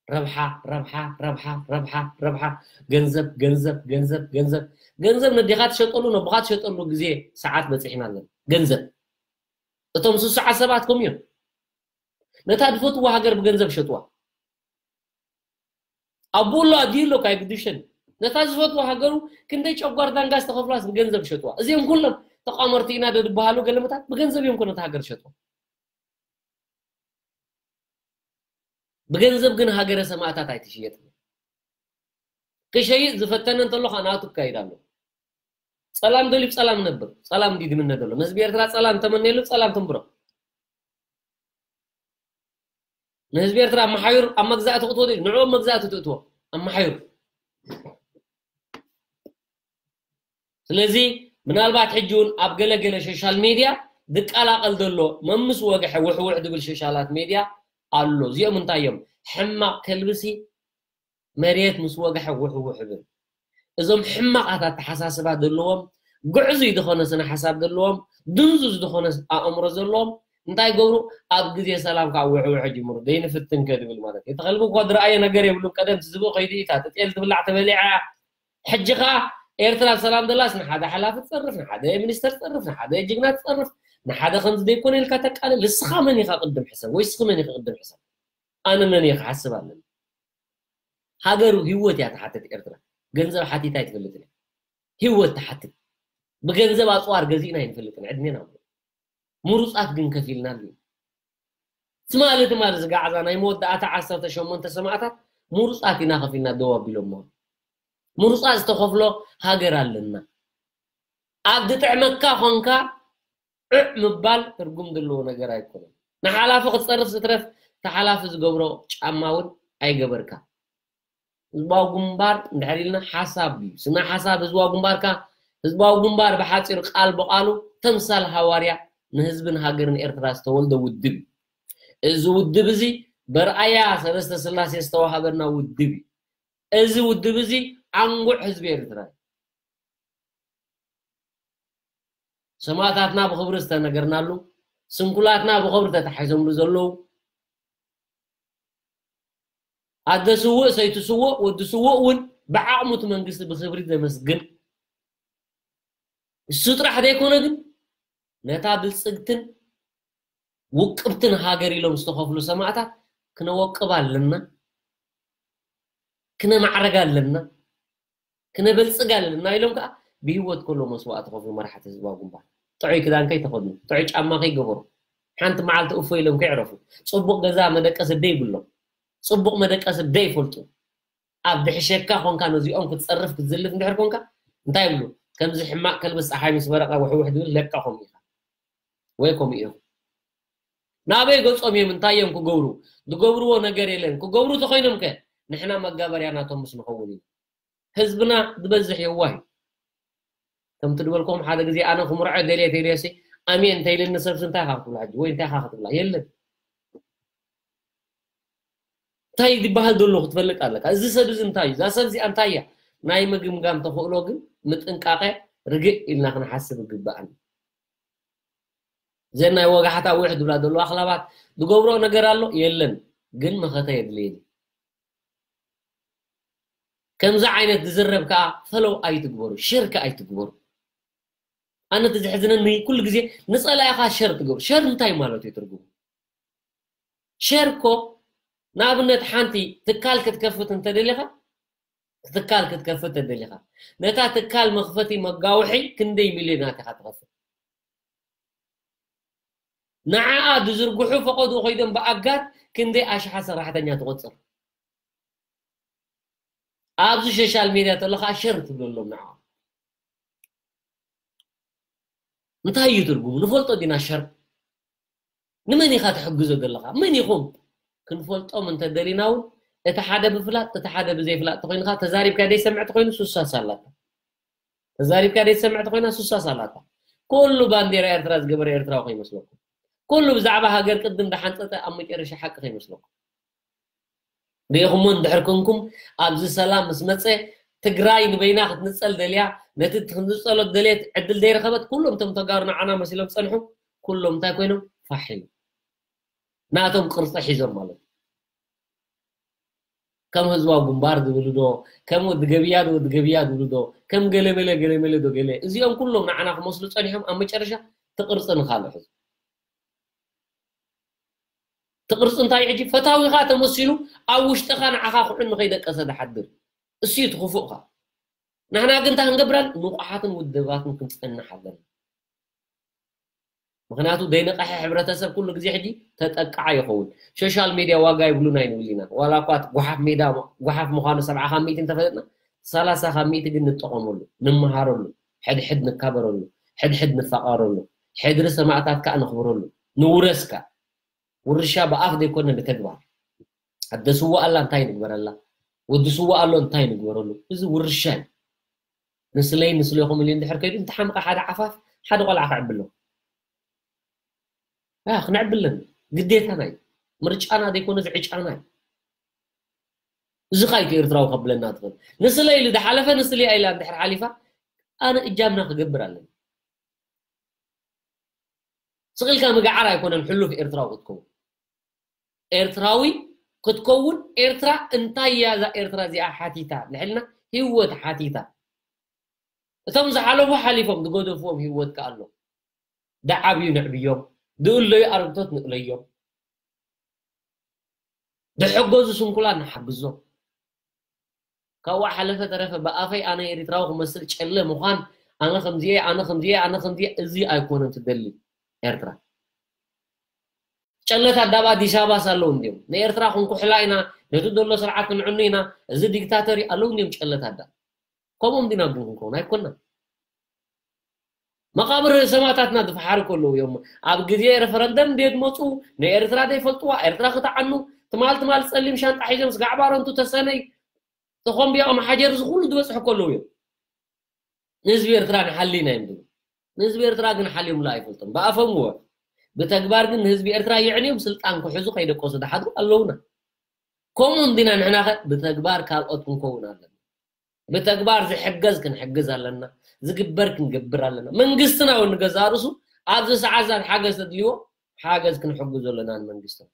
ረብሓ፣ ረብሓ፣ ረብሓ፣ ረብሓ፣ ረብሓ፣ ገንዘብ፣ ገንዘብ፣ ገንዘብ፣ ገንዘብ። ገንዘብ ነዴኻ ትሸጠሉ፣ ነቦኻ ትሸጠሉ ግዜ ሰዓት በጺሕና ኣለና። ገንዘብ። እቶም ስሱዓት ሰባት ከምኡ እዮም። ነታ ዝፈትዋ ሃገር ብገንዘብ ሸጥዋ። ኣቦኡ ኣሎ፣ ኣዲኡ ኣሎ፣ ካይግድሸን። ነታ ዝፈትዋ ሃገሩ ክንደይ ጨጓር ዳንጋ ዝተኸፍላስ ብገንዘብ ሸጥዋ። እዚኦም ኩሎም ተቋመርቲ ኢና ዶ ዝበሃሉ ገለመታት ብገንዘብ እዮም እኮ ነታ ሃገር ሸጥዋ። ብገንዘብ ግን ሃገረ ሰማእታት ኣይትሽየጥን። ክሸይጥ ዝፈተነ እንተሎ ኸኣ ናቱ ክካይድ ኣሎ። ጸላም ደልዩ ብጸላም ነብር፣ ጸላም እንዲ ዝምነ ዘሎ። ንህዝቢ ኤርትራ ጸላም ተመነየሉ፣ ጸላም ትንብሮ። ንህዝቢ ኤርትራ ኣመሓዩር ኣብ መግዛእቲ ክትወ ንዕኡ ኣብ መግዛእቲ ትእትዎ ኣመሓዩር። ስለዚ ምናልባት ሕጂ እውን ኣብ ገለገለ ሶሻል ሜድያ ዝቀላቐል ዘሎ መምስ ወግሐ ውሕውሕ ዝብል ሶሻላት ሜድያ ኣሎ። እዚኦም እንታይ እዮም? ሕማቕ ከልብሲ መሬት ምስ ወግሐ ውሕውሕ ይብል። እዞም ሕማቓት ኣተሓሳስባ ዘለዎም፣ ግዕዙይ ዝኾነ ስነ ሓሳብ ዘለዎም፣ ድንዙዝ ዝኾነ ኣእምሮ ዘለዎም እንታይ ገብሩ? ኣብ ግዜ ሰላም ከዓ ውሕውሕ ይጅምሩ። ዘይንፍትን ከ ዝብል ማለት እዩ። እቲ ከልቢ እኮ ዝረኣየ ነገር የብሉን። ቀደም ዝብኢ ከይዱ እዩ፣ እታ ጤል ትብላዕ ተበሊዓ። ሕጂ ከዓ ኤርትራ ሰላም ደላስ ንሓደ ሓላፊ ትጸርፍ፣ ንሓደ ሚኒስተር ትጸርፍ፣ ንሓደ ጅግና ትጸርፍ፣ ንሓደ ከምዚ ዘይኮነ ኢልካ ተቃልል። ንስኻ መን ኢኻ ቅድም ሕሰብ ወይ ንስኺ መን ኢኺ ቅድም ሕሰብ? ኣነ መን እየ ክሓስብ ኣለኒ? ሃገሩ ህይወት እያ ትሓትት ኤርትራ። ገንዘብ ሓቲት ኣይትፈልጥን እያ። ህይወት ትሓትት። ብገንዘብ ኣጽዋር ገዚእና ኣይንፈልጥን ዕድሜና ሙሉ። ምሩጻት ግን ከፊልናሉ። ትማሊ ትማሊ ዝጋዕዛ ናይ መወዳእታ ዓሰርተ ሸሞንተ ሰማእታት ምሩጻት ኢና ከፊልና ደው ኣቢሎሞ። ምሩጻት ዝተኸፍሎ ሃገር ኣለና። ኣብ ዝጥዕመካ ኾንካ ዑዕ ምባል ትርጉም ዘለዎ ነገር ኣይኮነን። ንሓላፊ ክትጸርፍ ዝትረፍ፣ እቲ ሓላፊ ዝገብሮ ጫማ እውን ኣይገበርካ። ህዝባዊ ግንባር እንድሕር ኢልና ሓሳብ እዩ። ስነ ሓሳብ ህዝባዊ ግንባርካ፣ ህዝባዊ ግንባር ብሓጺሩ ቃል ብቓሉ ተምሳል ሃዋርያ ንህዝብን ሃገርን ኤርትራ ዝተወልደ ውድብ እዩ። እዚ ውድብ እዚ በርኣያ ሰለስተ ስላሴ ዝተዋሃበና ውድብ እዩ። እዚ ውድብ እዚ ኣንጉዕ ህዝቢ ኤርትራ እዩ። ሰማእታትና ብኽብሪ ዝተነገርናሉ፣ ስንኩላትና ብኽብሪ ተታሒዞምሉ ዘለዉ፣ ኣደ ስውእ፣ ሰይቲ ስውእ፣ ወዲ ስውእ እውን ብዓቕሙ እቲ መንግስቲ ብኽብሪ ዘመስግን፣ እሱ ጥራሕ ዘይኮነ ግን ነታ ብልጽግትን ውቅብትን ሃገር ኢሎም ዝተኸፍሉ ሰማእታት ክነወቅብ ኣለና፣ ክነማዕረግ ኣለና፣ ክነበልጽግ ኣለና ኢሎም ከዓ ብህይወት ከሎ መስዋእቲ ከፍሉ መራሕቲ ህዝባዊ ግንባር። ጥዑይ ክዳን ከይተኸድኑ፣ ጥዑይ ጫማ ከይገበሩ፣ ሓንቲ መዓልቲ እፎ ኢሎም ከይዕረፉ፣ ጽቡቕ ገዛ መደቀሲ ደይብሎም፣ ጽቡቕ መደቀሲ ደይፈልጡ፣ ኣብ ድሕሸካ ኮንካ ነዚኦም ክትጸርፍ ክትዝልፍ እንድሕር ኮንካ እንታይ ይብሉ? ከምዚ ሕማቕ ከልቢ ጸሓይ ምስ በረቐ ውሕውሕ ዝብል ለቃ ከምኡ ኢኻ ወይ ከምኡ ኢኹም። ናበይ ገጾም እዮም? እንታይ እዮም ክገብሩ? ዝገብርዎ ነገር የለን። ክገብሩ ተኾይኖም ከ ንሕና መጋበርያ ናቶም ምስ ንኸውን ኢና። ህዝብና ዝበዝሕ የዋህ እዩ። ከምቲ ዝበልኩም ሓደ ግዜ ኣነ ክምርዖ ደልየ ተይደሲ ኣሜን እንተይልኒ ሰብሲ እንታይ ኢኻ ክትብላ ሕጂ ወይ እንታይ ኢኻ ክትብላ የለን። እንታይ ዝበሃል ዘሎ ክትፈልጥ ኣለካ። እዚ ሰብ እዚ እንታይ እዩ? እዛ ሰብ እዚኣ እንታይ እያ? ናይ ምግምጋም ተኽእሎ ግን ምጥንቃቐ ርግእ ኢልና ክንሓስብ ይግበኣና። እዘን ናይ ወጋሕታ ውሕ ዝብላ ዘለዋ ኣኽላባት ዝገብሮ ነገር ኣሎ የለን፣ ግን መኸተ የድልየኒ። ከምዚ ዓይነት ዝዝረብ ከዓ ፈለው ኣይትግበሩ፣ ሸር ከዓ ኣይትግበሩ። ኣነ እቲ ዝሕዝነኒ ኩሉ ግዜ ንፀላኢኻ ሸር ትገብሩ። ሸር እንታይ ማለት እዩ ትርጉሙ? ሸር እኮ ንኣብነት ሓንቲ ትካል ክትከፍት እንተደሊኻ ትካል ክትከፍት ተደሊኻ ነታ ትካል መኽፈቲ መጋውሒ ክንደይ ሚልዮናት ኢኻ ትኸፍት? ንዓኣ ዝዝርግሑ ፈቐዱ ኮይዶም ብኣጋር ክንደይ ኣሽሓ ሰራሕተኛ ትቆፅር? ኣብዚ ሶሻል ሜድያ ተሎ ከዓ ሸር ትብለሎም ንዓ እንታይ እዩ ትርጉሙ? ንፈልጦ ዲና ሸር ንመን ኢኻ ትሕግዞ ዘለኻ? መን ኢኹም? ክንፈልጦም እንተደሊና እውን እቲ ሓደ ብፍላጥ እቲ ሓደ ብዘይፍላጥ ተኮይንካ ተዛሪብካ ደይሰምዕ ተኮይኑ ሱሳስ ኣላታ። ተዛሪብካ ደይሰምዕ ተኮይና ሱሳስ ኣላታ። ኩሉ ባንዴራ ኤርትራ ዝገበረ ኤርትራዊ ከይመስለኩም። ኩሉ ብዛዕባ ሃገር ቅድም ዝሓንፀፀ ኣብ መጨረሻ ሓቂ ከይመስለኩም። ርኢኹሞ እንድሕር ኮንኩም ኣብዚ ሰላም ምስ መፀ ትግራይ ንበይና ክትንፀል ደልያ ነቲ ክትንፀሎ ደልየት ዕድል ዘይረኸበት ኩሎም እቶም ተጋሩ ንዓና መሲሎም ፀንሑ ኩሎም እንታይ ኮይኖም ፋሕ ኢሉ ናቶም ቅርፂ ሒዞም ማለት እዩ። ከም ህዝባዊ ግንባር ዝብሉ ዶ ከም ወዲ ገብያ ዶ ወዲ ገብያ ዝብሉ ዶ ከም ገለመለ ገለመለ ዶ ገለ እዚኦም ኩሎም ንዓና ክመስሉ ፀኒሖም ኣብ መጨረሻ ትቕርፂ ንካልእ ሕዙ ትቕርፂ እንታይ ሕጂ ፈታዊኻ ተመሲሉ ኣብ ውሽጥኻ ንዓኻ ኩዕን ንኸይደቀሰ ዝሓድር እሱ እዩ ትኽፉእኻ ንሕና ግን እንታይ ክንገብራን ንቑሓትን ውድባትን ክንፀንሕ ኣለና ምክንያቱ ዘይነቐሐ ሕብረተሰብ ኩሉ ግዜ ሕጂ ተጠቃዓ ይኸውን ሶሻል ሜድያ ዋጋ ይብሉን ኣይንብል ኢና ዋላ እኳ ጓሓፍ ሜዳ ጓሓፍ ምዃኑ ሰብዓ ካብ ሚእቲ እንተፈለጥና ሰላሳ ካብ ሚእቲ ግን ንጠቐመሉ ንምሃረሉ ሕድሕድ ንካበረሉ ሕድሕድ ንፋቐረሉ ሕድሪ ሰማእታት ከዓ ነኽብረሉ ንውረስ ከዓ ውርሻ ብኣፍ ዘይኮነ ብተግባር ኣደ ስዋ ኣላ እንታይ ንግበረላ ወዲ ስዋ ኣሎ እንታይ ንግበረሉ እዚ ውርሻ እዩ ንስለይ ንስለኹም ኢሉ እንድሕር ከይዱ እንተሓምቐ ሓደ ዓፋፍ ሓደ ቆልዓ ክዕብሎ ክንዕብለን ግዴታና እዩ ምርጫና ዘይኮነ ዝዕጫና እዩ እዚ ካይቲ ኤርትራዊ ከብለና ትኽእል ንስለ ኢሉ ዝሓለፈ ንስለ ኢላ እንድሕር ሓሊፋ ኣነ እጃምና ክገብር ኣለኒ ስቕ ኢልካ ምግዓር ኣይኮነን ሕሉፍ ኤርትራዊ ክትከውን ኤርትራዊ ክትከውን ኤርትራ እንታይ እያ እዛ ኤርትራ እዚኣ ሓቲታ ንሕልና ህይወት ሓቲታ እቶም ዝሓለፉ ሓሊፎም ዝገደፍዎም ህይወት ከኣሎ ደዓብዩ ንዕብዮም ዝእለዩ ኣረግቶት ንእለዮም ዝሐገዙ ስንኩላን ንሓግዞም ካብኡ ሓለፈ ተረፈ ብኣፈይ ኣነ ኤሪትራዊ ክመስል ጨለ ምዃን ኣነ ከምዚየ ኣነ ከምዚየ ኣነ ከምዚየ እዚ ኣይኮነን ትደሊ ኤርትራ ጨለታት ዳብ ኣዲስ ኣበባስ ኣለዉ እንዲዮም ንኤርትራ ክንኩሕላ ኢና ነቲ ዘሎ ስርዓት ክንዕኑ ኢና እዚ ዲክታተር ኣለዉ እንዲዮም ጨለታት ዳ ከምኦም ዲና ግን ክንከውን ኣይኮና መቃብር ሰማእታትና ዝፈሓሩ ከለዉ እዮም ኣብ ግዜ ሬፈረንደም እንዴት መፁ ንኤርትራ ዘይፈልጥዋ ኤርትራ ክትዓኑ ትማል ትማል ፀሊም ሻንጣ ሒዞም ስጋዕ ባረንቱ ተሰነይ ተኾምቢያ መሓጀር እዚ ኩሉ ዝበፅሑ ከለዉ እዮም ንህዝቢ ኤርትራ ንሓሊ ኢና እዮም ዝብሉ ንህዝቢ ኤርትራ ግን ሓልዮምሉ ኣይፈልጦም ብኣፎም ወ ብተግባር ግን ንህዝቢ ኤርትራ የዕንዮም ስልጣን ክሕዙ ከይደቀሱ ዝሓድሩ ኣለውና ከምኡ እንዲና ንሕናኸ ብተግባር ካልኦት ክንከውን ኣለና ብተግባር ዝሕገዝ ክንሕግዝ ኣለና ዝግበር ክንገብር ኣለና መንግስትና እውን ንገዛእ ርእሱ ኣብዚ ሰዓት ዛት ሓገዝ ተድልዎ ሓገዝ ክንሕግዞ ኣለና ንመንግስትና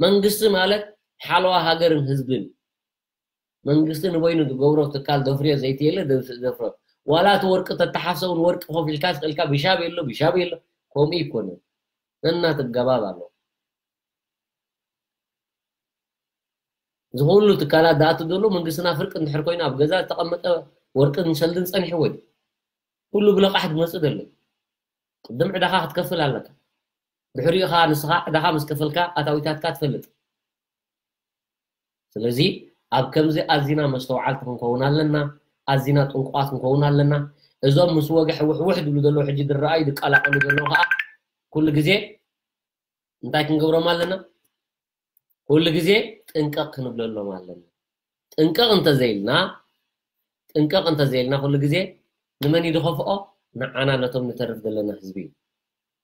መንግስቲ ማለት ሓለዋ ሃገርን ህዝብን መንግስቲ ንበይኑ ዝገብሮ ትካል ዘፍርዮ ዘይቲ የለ ዘፍርዮ ዋላ እቲ ወርቂ ተተሓፍሰ እውን ወርቂ ኮፍ ኢልካ ስቕ ኢልካ ብሻብ የሎ ብሻብ የሎ ከምኡ ይኮነ ነናትገባብ ኣሎ እዚ ኩሉ ትካላት ዝኣቱ ዘሎ መንግስትና ፍርቂ እንድሕር ኮይኑ ኣብ ገዛ ዝተቐመጠ ወርቅን ሰልድን ፀኒሕዎ እዩ ኩሉ ብለቃሕ ዝመፅእ ዘሎ ቅድም ዕዳኻ ክትከፍል ኣለካ ድሕሪኡ ከዓ ንስኻ ዕዳኻ ምስ ከፈልካ ኣታዊታትካ ትፈልጥ ስለዚ ኣብ ከምዚ ኣዚና መስተውዓልቲ ክንከውን ኣለና ኣዚና ጥንቁቓት ክንከውን ኣለና እዞም ምስ ወግሒ ውሕውሕ ዝብሉ ዘለዉ ሕጂ ዝረኣዩ ዝቀላቀሉ ዘለዉ ከዓ ኩሉ ግዜ እንታይ ክንገብሮም ኣለና ኩሉ ግዜ ጥንቀቕ ክንብለሎም ኣለና ጥንቀቕ እንተዘይልና ጥንቀቕ እንተዘይልና ኩሉ ግዜ ንመን እዩ ዝኸፍኦ? ንዓና ነቶም ንተርፍ ዘለና ህዝቢ እዩ።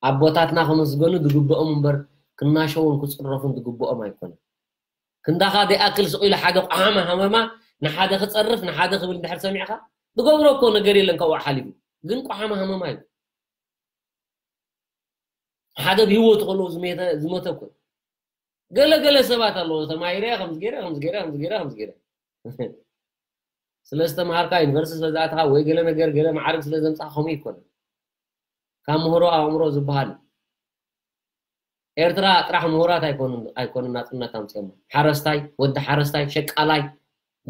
ኣቦታትና ክምስገኑ ዝግብኦም እምበር ክናሸውን ክፅረፉን ዝግብኦም ኣይኮነን። ክንዳኻ ዘይኣክል ስቕ ኢሉ ሓደ ቋሓማ ሃመማ ንሓደ ክፀርፍ ንሓደ ክብል እንድሕር ሰሚዕካ ዝገብሮ እኮ ነገር የለን ካብኡ ሓሊፉ። ግን ቋሓማ ሃመማ እዩ። ሓደ ብህይወቱ ከለዉ ዝመተ ዝመተ እኮ ገለ ገለ ሰባት ኣለዎ ተማሂረ ከምዚ ገይረ ከምዚ ገይረ ከምዚ ገይረ ከምዚ ገይረ ስለ ዝተምሃርካ ዩኒቨርሲቲ ስለ ዝኣተኻ ወይ ገለ ነገር ገለ ማዕርግ ስለ ዘምፃኻ ከምኡ ይኮነ ካብ ምህሮ ኣእምሮ ዝበሃል ኤርትራ ጥራሕ ምሁራት ኣይኮኑን ኣይኮኑን ናፅነት ኣምፅኦም ሓረስታይ ወዲ ሓረስታይ ሸቃላይ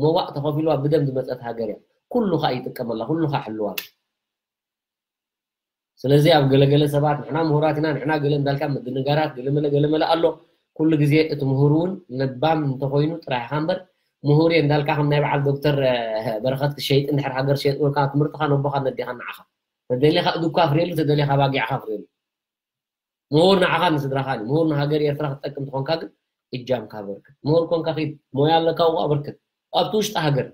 መዋእ ተኸፊልዋ ብደም ዝመፀት ሃገር እያ ኩሉ ከዓ ይጥቀመላ ኩሉ ከዓ ሕልዋ ስለዚ ኣብ ገለገለ ሰባት ንሕና ምሁራት ኢና ንሕና ገለ እንዳልካ ምድንጋራት ገለመለ ገለመለ ኣሎ ኩሉ ግዜ እቲ ምሁር እውን ለባም እንተኮይኑ ጥራሕ ኢኻ እምበር ምሁር እየ እንዳልካ ከም ናይ በዓል ዶክተር በረኸት ክሸይጥ እንድሕር ሃገር ሸይጥወልካ ትምህርትኻ ነቦኻ ነዴኻ ንዓኻ ተደሊኻ እዱኳ ፍሬሉ ተደሊኻ ባጊዕኻ ፍሬሉ ምሁር ንዓኻ ንስድራኻ እዩ ምሁር ንሃገር ኤርትራ ክትጠቅም ትኾንካ ግን እጃምካ በርክት ምሁር ኮንካ ኪድ ሞያ ኣለካ ውቃ በርክት ኣብቲ ውሽጢ ሃገር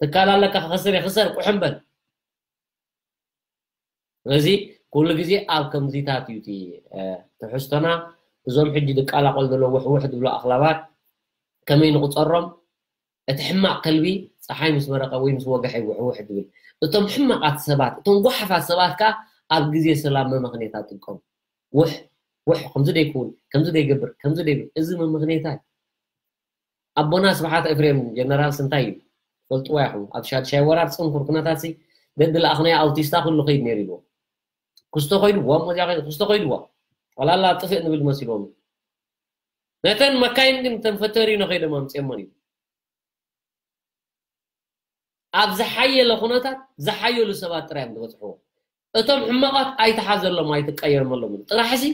ትካል ኣለካ ክኸስር የኽሰር ቁሕም በል ስለዚ ኩሉ ግዜ ኣብ ከምዚታት እዩ እቲ ትሕዝቶና እዞም ሕጂ ድቃላቆል ዘሎ ውሕውሕ ዝብሉ ኣኽላባት ከመይ ንቁፀሮም እቲ ሕማቕ ከልቢ ፀሓይ ምስ መረቐ ወይ ምስ ወገሐ ውሕውሕ ዝብል እቶም ሕማቓት ሰባት እቶም ጓሓፋት ሰባት ከዓ ኣብ ግዜ ሰላም መመኽኔታ ጥቀሙ ውሕ ውሕ ከምዚ ደይክውን ከምዚ ደይገብር ከምዚ ደይብል እዚ መመኽኔታ እዩ ኣቦና ስብሓት ኤፍሬም ጀነራል ስንታይ እዩ ፈልጥዋ ኢኹም ኣብ ሻድሻይ ወራር ፅንኩር ኩነታት ሲ ደድለኣኽናዮ ኣውቲስታ ኩሉ ከይድ ነይሩ ኢልዎ ክስቶ ኮይድዎ ሞዚያ ክስቶ ኮይድዎ ጠቕላላ ጥፍእ ንብል መሲልዎም ነተን መካይን ግን ተን ፈተሪኖ ከይዶም ኣምፅኦሞን እዩ ኣብ ዝሓየለ ኩነታት ዝሓየሉ ሰባት ጥራይ እዮም ዝበፅሕዎ እቶም ሕማቓት ኣይትሓዘሎም ኣይትቀየርመሎም ጥራሕ ሲ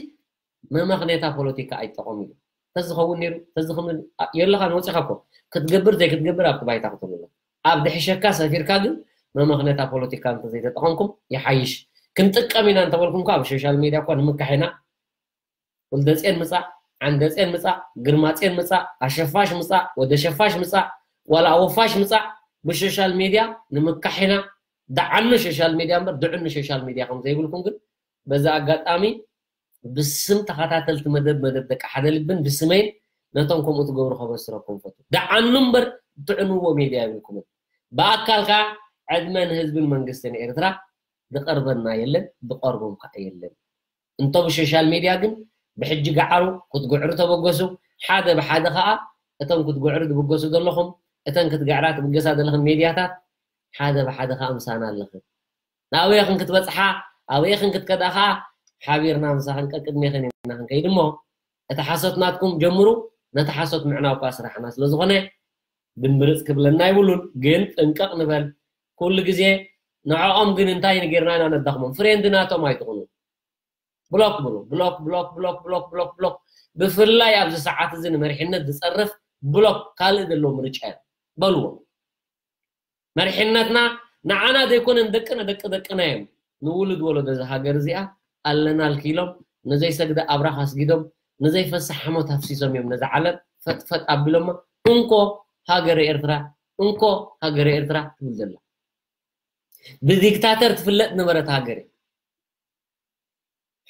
መመኽኔታ ፖለቲካ ኣይጠቐሙ እዩ ተዝኸውን ነይሩ ተዝኽምን የለኻን ወፂኻ እኮ ክትገብር ዘይክትገብር ኣብቲ ባይታ ክትብሎ ኣብ ድሕሸካ ሰፊርካ ግን መመኽነታ ፖለቲካ እንተዘይተጠቐምኩም ይሓይሽ ክንጥቀም ኢና እንተበልኩም ኣብ ሶሻል ሜድያ እኳ ንምካሕ ኢና ወልደፅዮን ምፃእ ዓንደፅዮን ምፃእ ግርማፅዮን ምፃእ ኣሸፋሽ ምፃእ ወደ ሸፋሽ ምፃእ ዋላ ኣወፋሽ ምፃእ ብሶሻል ሜድያ ንምካሕ ኢና ደዓኑ ሶሻል ሜድያ እምበር ድዕኑ ሶሻል ሜድያ ከም ዘይብልኩም ግን በዚ ኣጋጣሚ ብስም ተኸታተልቲ መደብ መደብ ደቂ ሓደ ልብን ብስመይን ነቶም ከምኡ ትገብሩ ከበስረኩም ፈቱ። ደዓኑ እምበር ትዕንዎ ሜድያ የብልኩምን። ብኣካል ከኣ ዕድመ ንህዝብን መንግስትን ኤርትራ ዝቐርበና የለን፣ ዝቐርቦም ከኣ የለን። እንቶ ብሶሻል ሜድያ ግን ብሕጂ ገዓሩ ክትግዕሩ ተበገሱ፣ ሓደ ብሓደ ከኣ እቶም ክትግዕሩ ትብገሱ ዘለኹም እተን ክትግዕራ ትብገሳ ዘለኽን ሜድያታት ሓደ ብሓደ ከኣ ምሳና ኣለኽን። ናበየኽን ክትበጽሓ ኣበየኽን ክትከዳ ኸዓ ሓቢርና ምሳኽን ቀቅድሜኽን ኢና ክንከይድ እሞ እቲ ሓሶት ናትኩም ጀምሩ ነቲ ሓሶት ምዕናው እኳ ስራሕና ስለ ዝኾነ ድምብርፅ ክብለና ይብሉን ግን ጥንቀቕ ንበል ኩሉ ግዜ ንዕኦም ግን እንታይ ንጌርና ኢና ነዳኽሞም ፍሬንድ ናቶም ኣይትኹኑ ብሎክ ብሉ ብሎክ ብሎክ ብሎክ ብሎክ ብሎክ ብሎክ ብፍላይ ኣብዚ ሰዓት እዚ ንመሪሕነት ዝፀርፍ ብሎክ ካልእ ዘለዎ ምርጫ እዩ በልዎ መሪሕነትና ንዓና ዘይኮነ ንደቅና ደቂ ደቅና እዮም ንውሉድ ወለዶ እዚ ሃገር እዚኣ ኣለናልኪ ኢሎም ንዘይሰግደ ኣብራኽ ኣስጊዶም ንዘይፈስሕ ሓሞት ኣፍሲሶም እዮም ነዛ ዓለም ፈጥፈጥ ኣቢሎማ እንኮ ሃገረ ኤርትራ እንኮ ሃገረ ኤርትራ ትብል ዘላ ብዲክታተር ትፍለጥ ነበረት ሃገር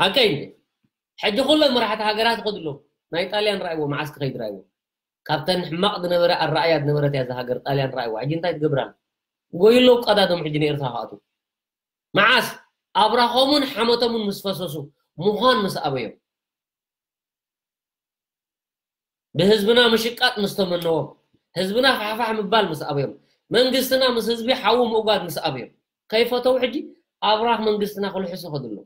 ሓቀይ እንዴ ሕጂ ኩለን መራሕቲ ሃገራት ይኸዱ ኣለዉ ናይ ጣልያን ረኣይዎ መዓስ ክኸይድ ረኣይዎ ካብተን ሕማቕ ዝነበረ ኣረኣያ ዝነበረት እያ እዛ ሃገር ጣልያን ረኣይዎ ሕጂ እንታይ ትገብር ኣላ ጎዩ ኣለዉ ቀዳዶም ሕጂ ንኤርትራ ክኣትዉ መዓስ ኣብራኾምን ሓመቶምን ምስ ፈሰሱ ምዃን ምስ ኣበዮም ብህዝብና ምሽቃጥ ምስ ተመነዎም ህዝብና ፋሕፋሕ ምባል ምስ ኣበዮም መንግስትና ምስ ህዝቢ ሓዊ ምእጓድ ምስ ኣበዮም ከይፈተው ሕጂ ኣብራኽ መንግስትና ክልሕሱ ከድሎ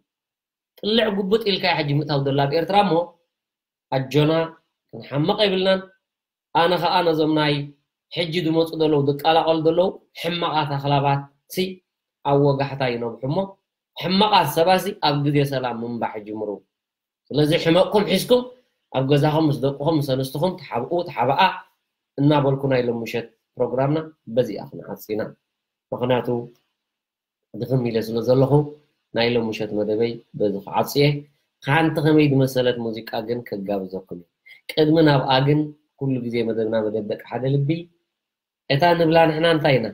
ጥልዕ ጉብጥ ኢልካ ሕጂ ምእታው ዘሎ ኣብ ኤርትራ እሞ ኣጆና ክንሓመቕ የብልናን ኣነ ኸዓ ነዞም ናይ ሕጂ ዝመፁ ዘለዉ ዝቀላቐሉ ዘለዉ ሕማቓት ኣኽላባት ሲ ኣብ ወጋሕታ ይነብሑ እሞ ሕማቓት ሰባት ሲ ኣብ ግዜ ሰላም ምንባሕ ይጅምሩ ስለዚ ሕመቕኩም ሒዝኩም ኣብ ገዛኹም ምስ ደቅኹም ምስ ኣንስትኹም ተሓብኡ ተሓብኣ እናበልኩ ናይ ሎም ምሸት ፕሮግራምና በዚኣ ክንዓፂ ኢና ምኽንያቱ ድኽም ኢለ ስለ ዘለኹ ናይ ሎም ምሸት መደበይ በዚ ክዓፅየ ሓንቲ ከመይ ዝመሰለት ሙዚቃ ግን ከጋብዘኩም እዩ ቅድሚ ናብኣ ግን ኩሉ ግዜ መደብና መደብ ደቂ ሓደ ልቢ እታ ንብላ ንሕና እንታይ ኢና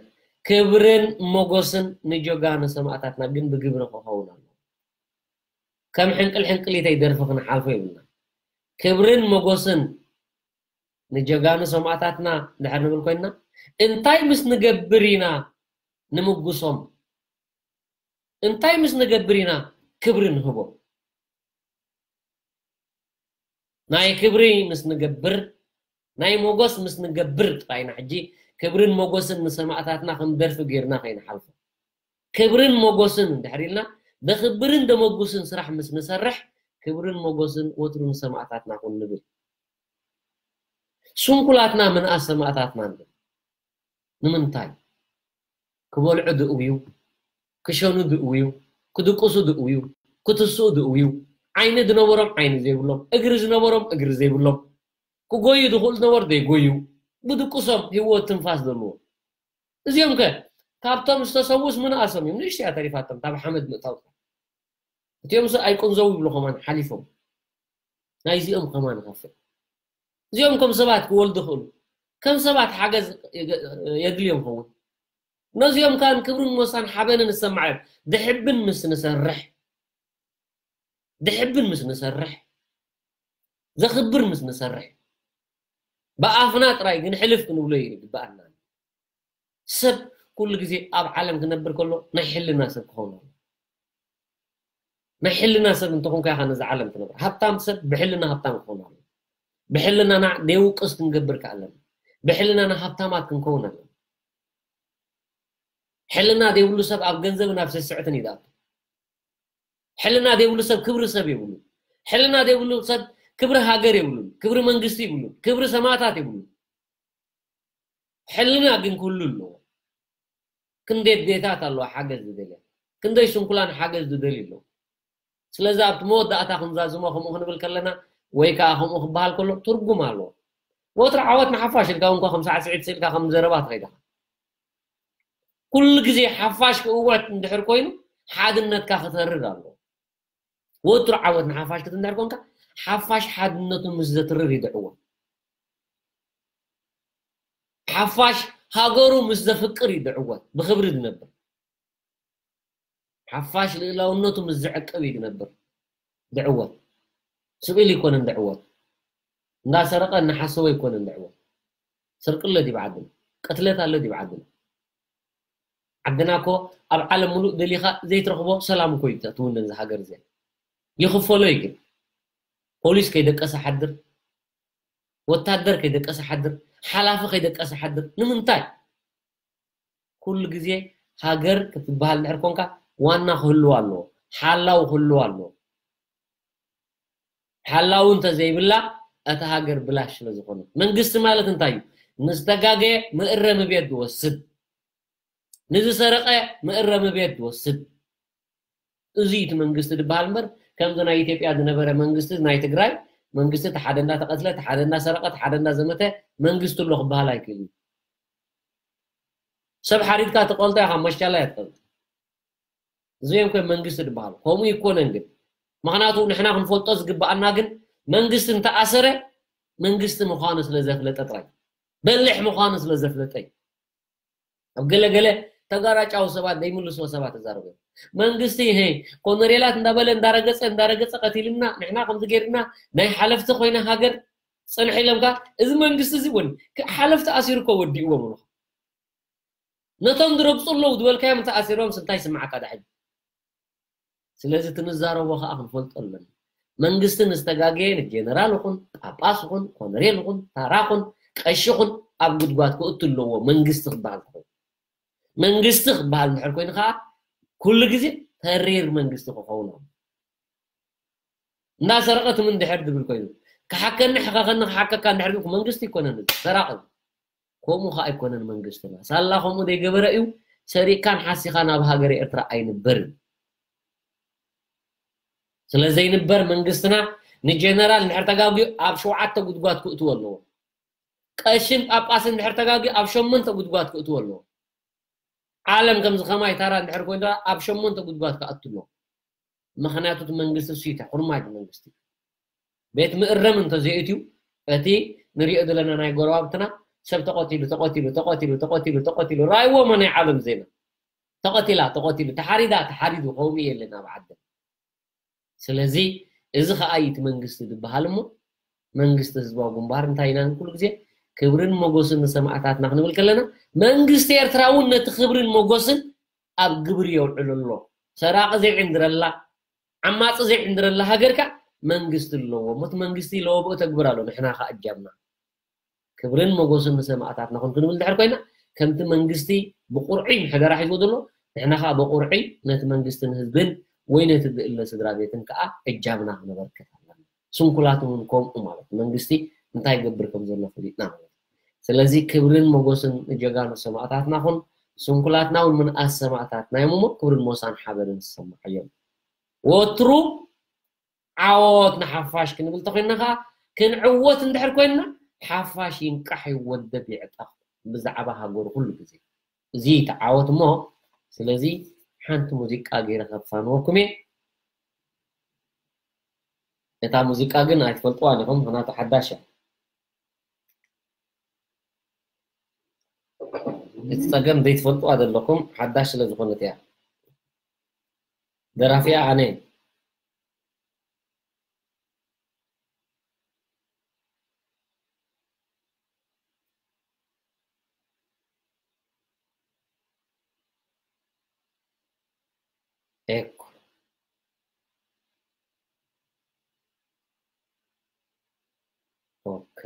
ክብርን ሞጎስን ንጀጋኑ ሰማእታትና፣ ግን ብግብሪ ክኸውን ኣሎ። ከም ሕንቅል ሕንቅሊተይ ደርፊ ክንሓልፎ የብልና። ክብርን ሞጎስን ንጀጋኑ ሰማእታትና ድሕር ንብል ኮይንና፣ እንታይ ምስ ንገብር ኢና ንምጉሶም? እንታይ ምስ ንገብር ኢና ክብሪ ንህቦም? ናይ ክብሪ ምስ ንገብር፣ ናይ ሞጎስ ምስ ንገብር ጥራይ ኢና ሕጂ ክብርን ሞጎስን ንሰማእታትና ከም ደርፊ ጌርና ከይንሓልፎ። ክብርን ሞጎስን እንድሕር ኢልና፣ ደኽብርን ደመጉስን ስራሕ ምስ ንሰርሕ፣ ክብርን ሞጎስን ወትሩ ንሰማእታትና ኩን ንብል። ስንኩላትና ምንኣስ ሰማእታትና ንብል። ንምንታይ? ክበልዑ ድእውዩ፣ ክሸኑ ድእውዩ፣ ክድቅሱ ድእውዩ፣ ክትስኡ ድእውዩ፣ ዓይኒ ዝነበሮም ዓይኒ ዘይብሎም፣ እግሪ ዝነበሮም እግሪ ዘይብሎም፣ ክጎዩ ዝኽእሉ ዝነበሩ ዘይጎዩ፣ ብድቅሶም ህይወት ትንፋስ ዘለዎ። እዚኦም ከ ካብቶም ዝተሰውስ ምንኣሶም እዮም። ንእሽተያ ተሪፋቶም፣ ካብ ሓመድ ምእታው። እቲኦም ስ ኣይቁንዘው ይብሉ ከማን ሓሊፎም። ናይዚኦም ከማን ንኸፍል። እዚኦም ከም ሰባት ክወልዱ ይኽእሉ። ከም ሰባት ሓገዝ የገ-፣ የድልዮም ይኸውን። ነዚኦም ከኣ ክብርን ሞሳን ሓበንን ዝሰማዕ እዮም። ድሕብን ምስ ንሰርሕ፣ ድሕብን ምስ ንሰርሕ፣ ዘኽብር ምስ ንሰርሕ፣ ብኣፍና ጥራይ ግን ሕልፍ ክንብሎ ይግብኣና። ሰብ ኩሉ ግዜ ኣብ ዓለም ክነብር ከሎ ናይ ሕልና ሰብ ክኸውን ኣለዎ። ናይ ሕልና ሰብ እንተኾንካ ኢኻ ነዛ ዓለም ትነብር። ሃብታም ሰብ ብሕልና ሃብታም ክኸውን ኣለዎ። ብሕልናና ደይውቅስ ክንገብር ከኣለና። ብሕልናና ሃብታማት ክንከውን ኣለና። ሕልና ዘይብሉ ሰብ ኣብ ገንዘብን ኣብ ስስዕትን እዩ ዝኣቱ። ሕልና ዘይብሉ ሰብ ክብሪ ሰብ የብሉን። ሕልና ዘይብሉ ሰብ ክብሪ ሃገር የብሉን። ክብሪ መንግስቲ የብሉን። ክብሪ ሰማእታት የብሉን። ሕልና ግን ክህሉ ኣለዎ። ክንደይ ኣዴታት ኣለዋ ሓገዝ ዝደልያ፣ ክንደይ ስንኩላን ሓገዝ ዝደልዩ ኣለዉ። ስለዚ ኣብቲ መወዳእታ ክንዛዝሞ ከምኡ ክንብል ከለና ወይ ከዓ ከምኡ ክበሃል ከሎ ትርጉም ኣለዎ። ወትሩ ዓወት ንሓፋሽ ኢልካ እውን ከም ሳዕስዒት ስኢልካ ከም ዘረባ ትኸይድ ኢኻ። ኩሉ ግዜ ሓፋሽ ክእወት እንድሕር ኮይኑ ሓድነትካ ክተርር ኣለዎ። ወትሩ ዓወት ንሓፋሽ ክትብል እንድሕር ኮንካ፣ ሓፋሽ ሓድነቱ ምስ ዘትርር እዩ ዝዕወት። ሓፋሽ ሃገሩ ምስ ዘፍቅር እዩ ዝዕወት፣ ብኽብሪ ዝነብር። ሓፋሽ ልእላውነቱ ምስ ዝዕቅብ እዩ ዝነብር፣ ዝዕወት። ስቕ ኢሉ ኣይኮነን ዝዕወት። እንዳሰረቐ እናሓሰወ ኣይኮነን ዝዕወት። ስርቂ ኣሎ ድዩ ዓድና? ቅትለት ኣሎ ድዩ ዓድና? ዓድና እኮ ኣብ ዓለም ሙሉእ ደሊኻ ዘይትረኽቦ ሰላም እኮ እዩ ትውንን እዛ ሃገር እዚኣ። ይኽፈሎ እዩ ግን። ፖሊስ ከይደቀሰ ሓድር፣ ወታደር ከይደቀሰ ሓድር፣ ሓላፊ ከይደቀሰ ሓድር። ንምንታይ? ኩሉ ግዜ ሃገር ክትበሃል እንድሕር ኮንካ ዋና ክህልዋ ኣለዎ፣ ሓላው ክህልዋ ኣለዎ። ሓላው እንተዘይብላ እታ ሃገር ብላሽ ስለ ዝኾነት። መንግስቲ ማለት እንታይ እዩ? ንዝተጋገየ መእረሚ ቤት ዝወስድ፣ ንዝሰረቐ መእረሚ ቤት ዝወስድ። እዚ እቲ መንግስቲ ዝበሃል እምበር ከምዚ ናይ ኢትዮጵያ ዝነበረ መንግስቲ፣ ናይ ትግራይ መንግስቲ እቲ ሓደ እንዳተቐትለ፣ እቲ ሓደ እንዳሰረቐ፣ እቲ ሓደ እንዳዘመተ መንግስቲ ኣሎ ክበሃል ኣይክእልን። ሰብ ሓሪድካ ትቐልጦ ኢኻ፣ ማሻላ እያ ትቐልጥ። እዚኦም ከ መንግስቲ ዝበሃል ከምኡ ይኮነን ግን። ምኽንያቱ ንሕና ክንፈልጦ ዝግብኣና ግን መንግስቲ እንተኣሰረ መንግስቲ ምዃኑ ስለ ዘፍለጠ ጥራይ፣ በሊሕ ምዃኑ ስለ ዘፍለጠ እዩ። ኣብ ገለ ገለ ተጋራጫዊ ሰባት ዘይምልስዎ ሰባት ተዛረቡ እዮም። መንግስቲ፣ ሄ፣ ኮነሬላት እንዳበለ እንዳረገጸ እንዳረገጸ ቀቲልና፣ ንሕና ከምዚ ገይርና፣ ናይ ሓለፍቲ ኮይና ሃገር ጽንሕ ኢሎም ከኣ፣ እዚ መንግስቲ እዚ እውን ክ-፣ ሓለፍቲ ኣሲሩ እኮ ወዲእዎም ኣሎ። ነቶም ዝረግጹ ኣለዉ ዝበልካዮም እንተ ኣሲሮም እንታይ ይስምዓካ ዳሕጂ? ስለዚ እቲ ንዛረቦ ከኣ ክንፈልጦ ኣለና። መንግስቲ ንዝተጋገየ ንጀነራል ይኹን፣ ጳጳስ ይኹን፣ ኮነሬል ይኹን፣ ታራ ይኹን፣ ቀሺ ይኹን ኣብ ጉድጓድ ክእቱ ኣለዎ መንግስቲ ክበሃል ክኸውን። መንግስቲ ክበሃል እንድሕር ኮይኑ ከኣ ኩሉ ግዜ ተሪር መንግስቲ ክኸውን ኣለዎ። እንዳሰረቐ ትም እንድሕር ዝብል ኮይኑ፣ ክሓከኒ ሕኸኸኒ ክሓከካ እንድሕር ዝብል መንግስቲ ኣይኮነን እዚ፣ ሰራቒ። ከምኡ ከኣ ኣይኮነን መንግስትና። ሳላ ከምኡ ዘይገበረ እዩ፣ ሰሪቕካን ሓሲኻን ኣብ ሃገረ ኤርትራ ኣይንበርን። ስለ ዘይንበር መንግስትና ንጀነራል እንድሕር ተጋግዩ ኣብ ሸውዓተ ጉድጓድ ክእትዎ ኣለዎ። ቀሽን ጳጳስን እንድሕር ተጋግዩ ኣብ ሸሞንተ ጉድጓድ ክእትዎ ኣለዎ። ዓለም ከምዚ ከማይ ታራ እንድሕር ኮይኑ ደኣ ኣብ ሸሞንተ ጉድጓድ ክኣቱ ኣለዎ። ምኽንያቱ እቲ መንግስቲ እሱ እዩ፣ እቲ ሕርማጅ መንግስቲ። ቤት ምእረም እንተዘይእትዩ፣ እቲ ንሪኦ ዘለና ናይ ጎረባብትና ሰብ ተቐቲሉ ተቐቲሉ ተቐቲሉ ተቐቲሉ ተቐቲሉ ራይዎ መ ናይ ዓለም ዜና ተቐቲላ ተቐቲሉ ተሓሪዳ ተሓሪዱ ከምኡ የለን ኣብ ዓድና። ስለዚ እዚ ኸኣ እዩ እቲ መንግስቲ ዝበሃል እሞ መንግስቲ ህዝባዊ ግንባር እንታይ ኢና ንብል ኩሉ ግዜ ክብርን ሞጎስን ንሰማእታትና ክንብል ከለና መንግስቲ ኤርትራ እውን ነቲ ክብርን ሞጎስን ኣብ ግብሪ የውዕሎ ኣሎ። ሰራቒ ዘይዕንድረላ ዓማፂ ዘይዕንድረላ ሃገር ከኣ መንግስቲ ኣለዎ እሞ እቲ መንግስቲ ለወብኦ ተግብር ኣሎ ንሕና ከኣ እጃምና ክብርን ሞጎስን ንሰማእታትና ኩን ክንብል እንድሕር ኮይና ከምቲ መንግስቲ ብቁርዒ ምሕደራ ሒዝዎ ዘሎ ንሕና ከዓ ብቁርዒ ነቲ መንግስትን ህዝብን ወይ ነቲ ዝእለ ስድራ ቤትን ከዓ እጃምና ክነበርክት ኣለና። ስንኩላት እውን ከምኡ ማለት መንግስቲ እንታይ ይገብር ከም ዘሎ ፈሊጥና ማለት እዩ። ስለዚ ክብርን ሞጎስን ንጀጋኑ ሰማእታትና ኩን ስንኩላትና እውን ምንኣስ ሰማእታትና እዮም እሞ ክብርን ሞሳን ሓበርን ዝሰማዓዮም ወትሩ ዓወት ንሓፋሽ ክንብል ተኮይንና ከዓ ክንዕወት እንድሕር ኮይንና ሓፋሽ ይንቃሕ ይወደብ ይዕጠቕ ብዛዕባ ሃገሩ ኩሉ ግዜ እዚ ተዓወት እሞ ስለዚ ሓንቲ ሙዚቃ ገይረ ከፋንወኩም እየ እታ ሙዚቃ ግን ኣይትፈልጥዋን ኢኹም ምክንያቱ ሓዳሽ እያ እቲ ፀገም ዘይትፈልጥዋ ዘለኩም ሓዳሽ ስለ ዝኾነት እያ ደራፊኣ ኣነ ኤኮ ኦኬ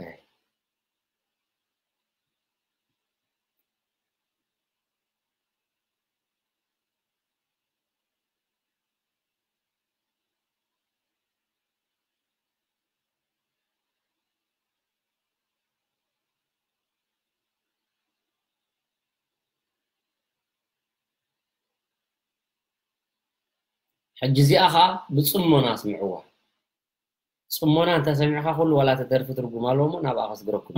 ሕጂ እዚኣ ኸዓ ብፅሞና ስምዕዋ ፅሞና እንተሰሚዕካ ኩሉ ዋላ ተደርፊ ትርጉም ኣለዎ እሞ ናብኣ ከስግረኩም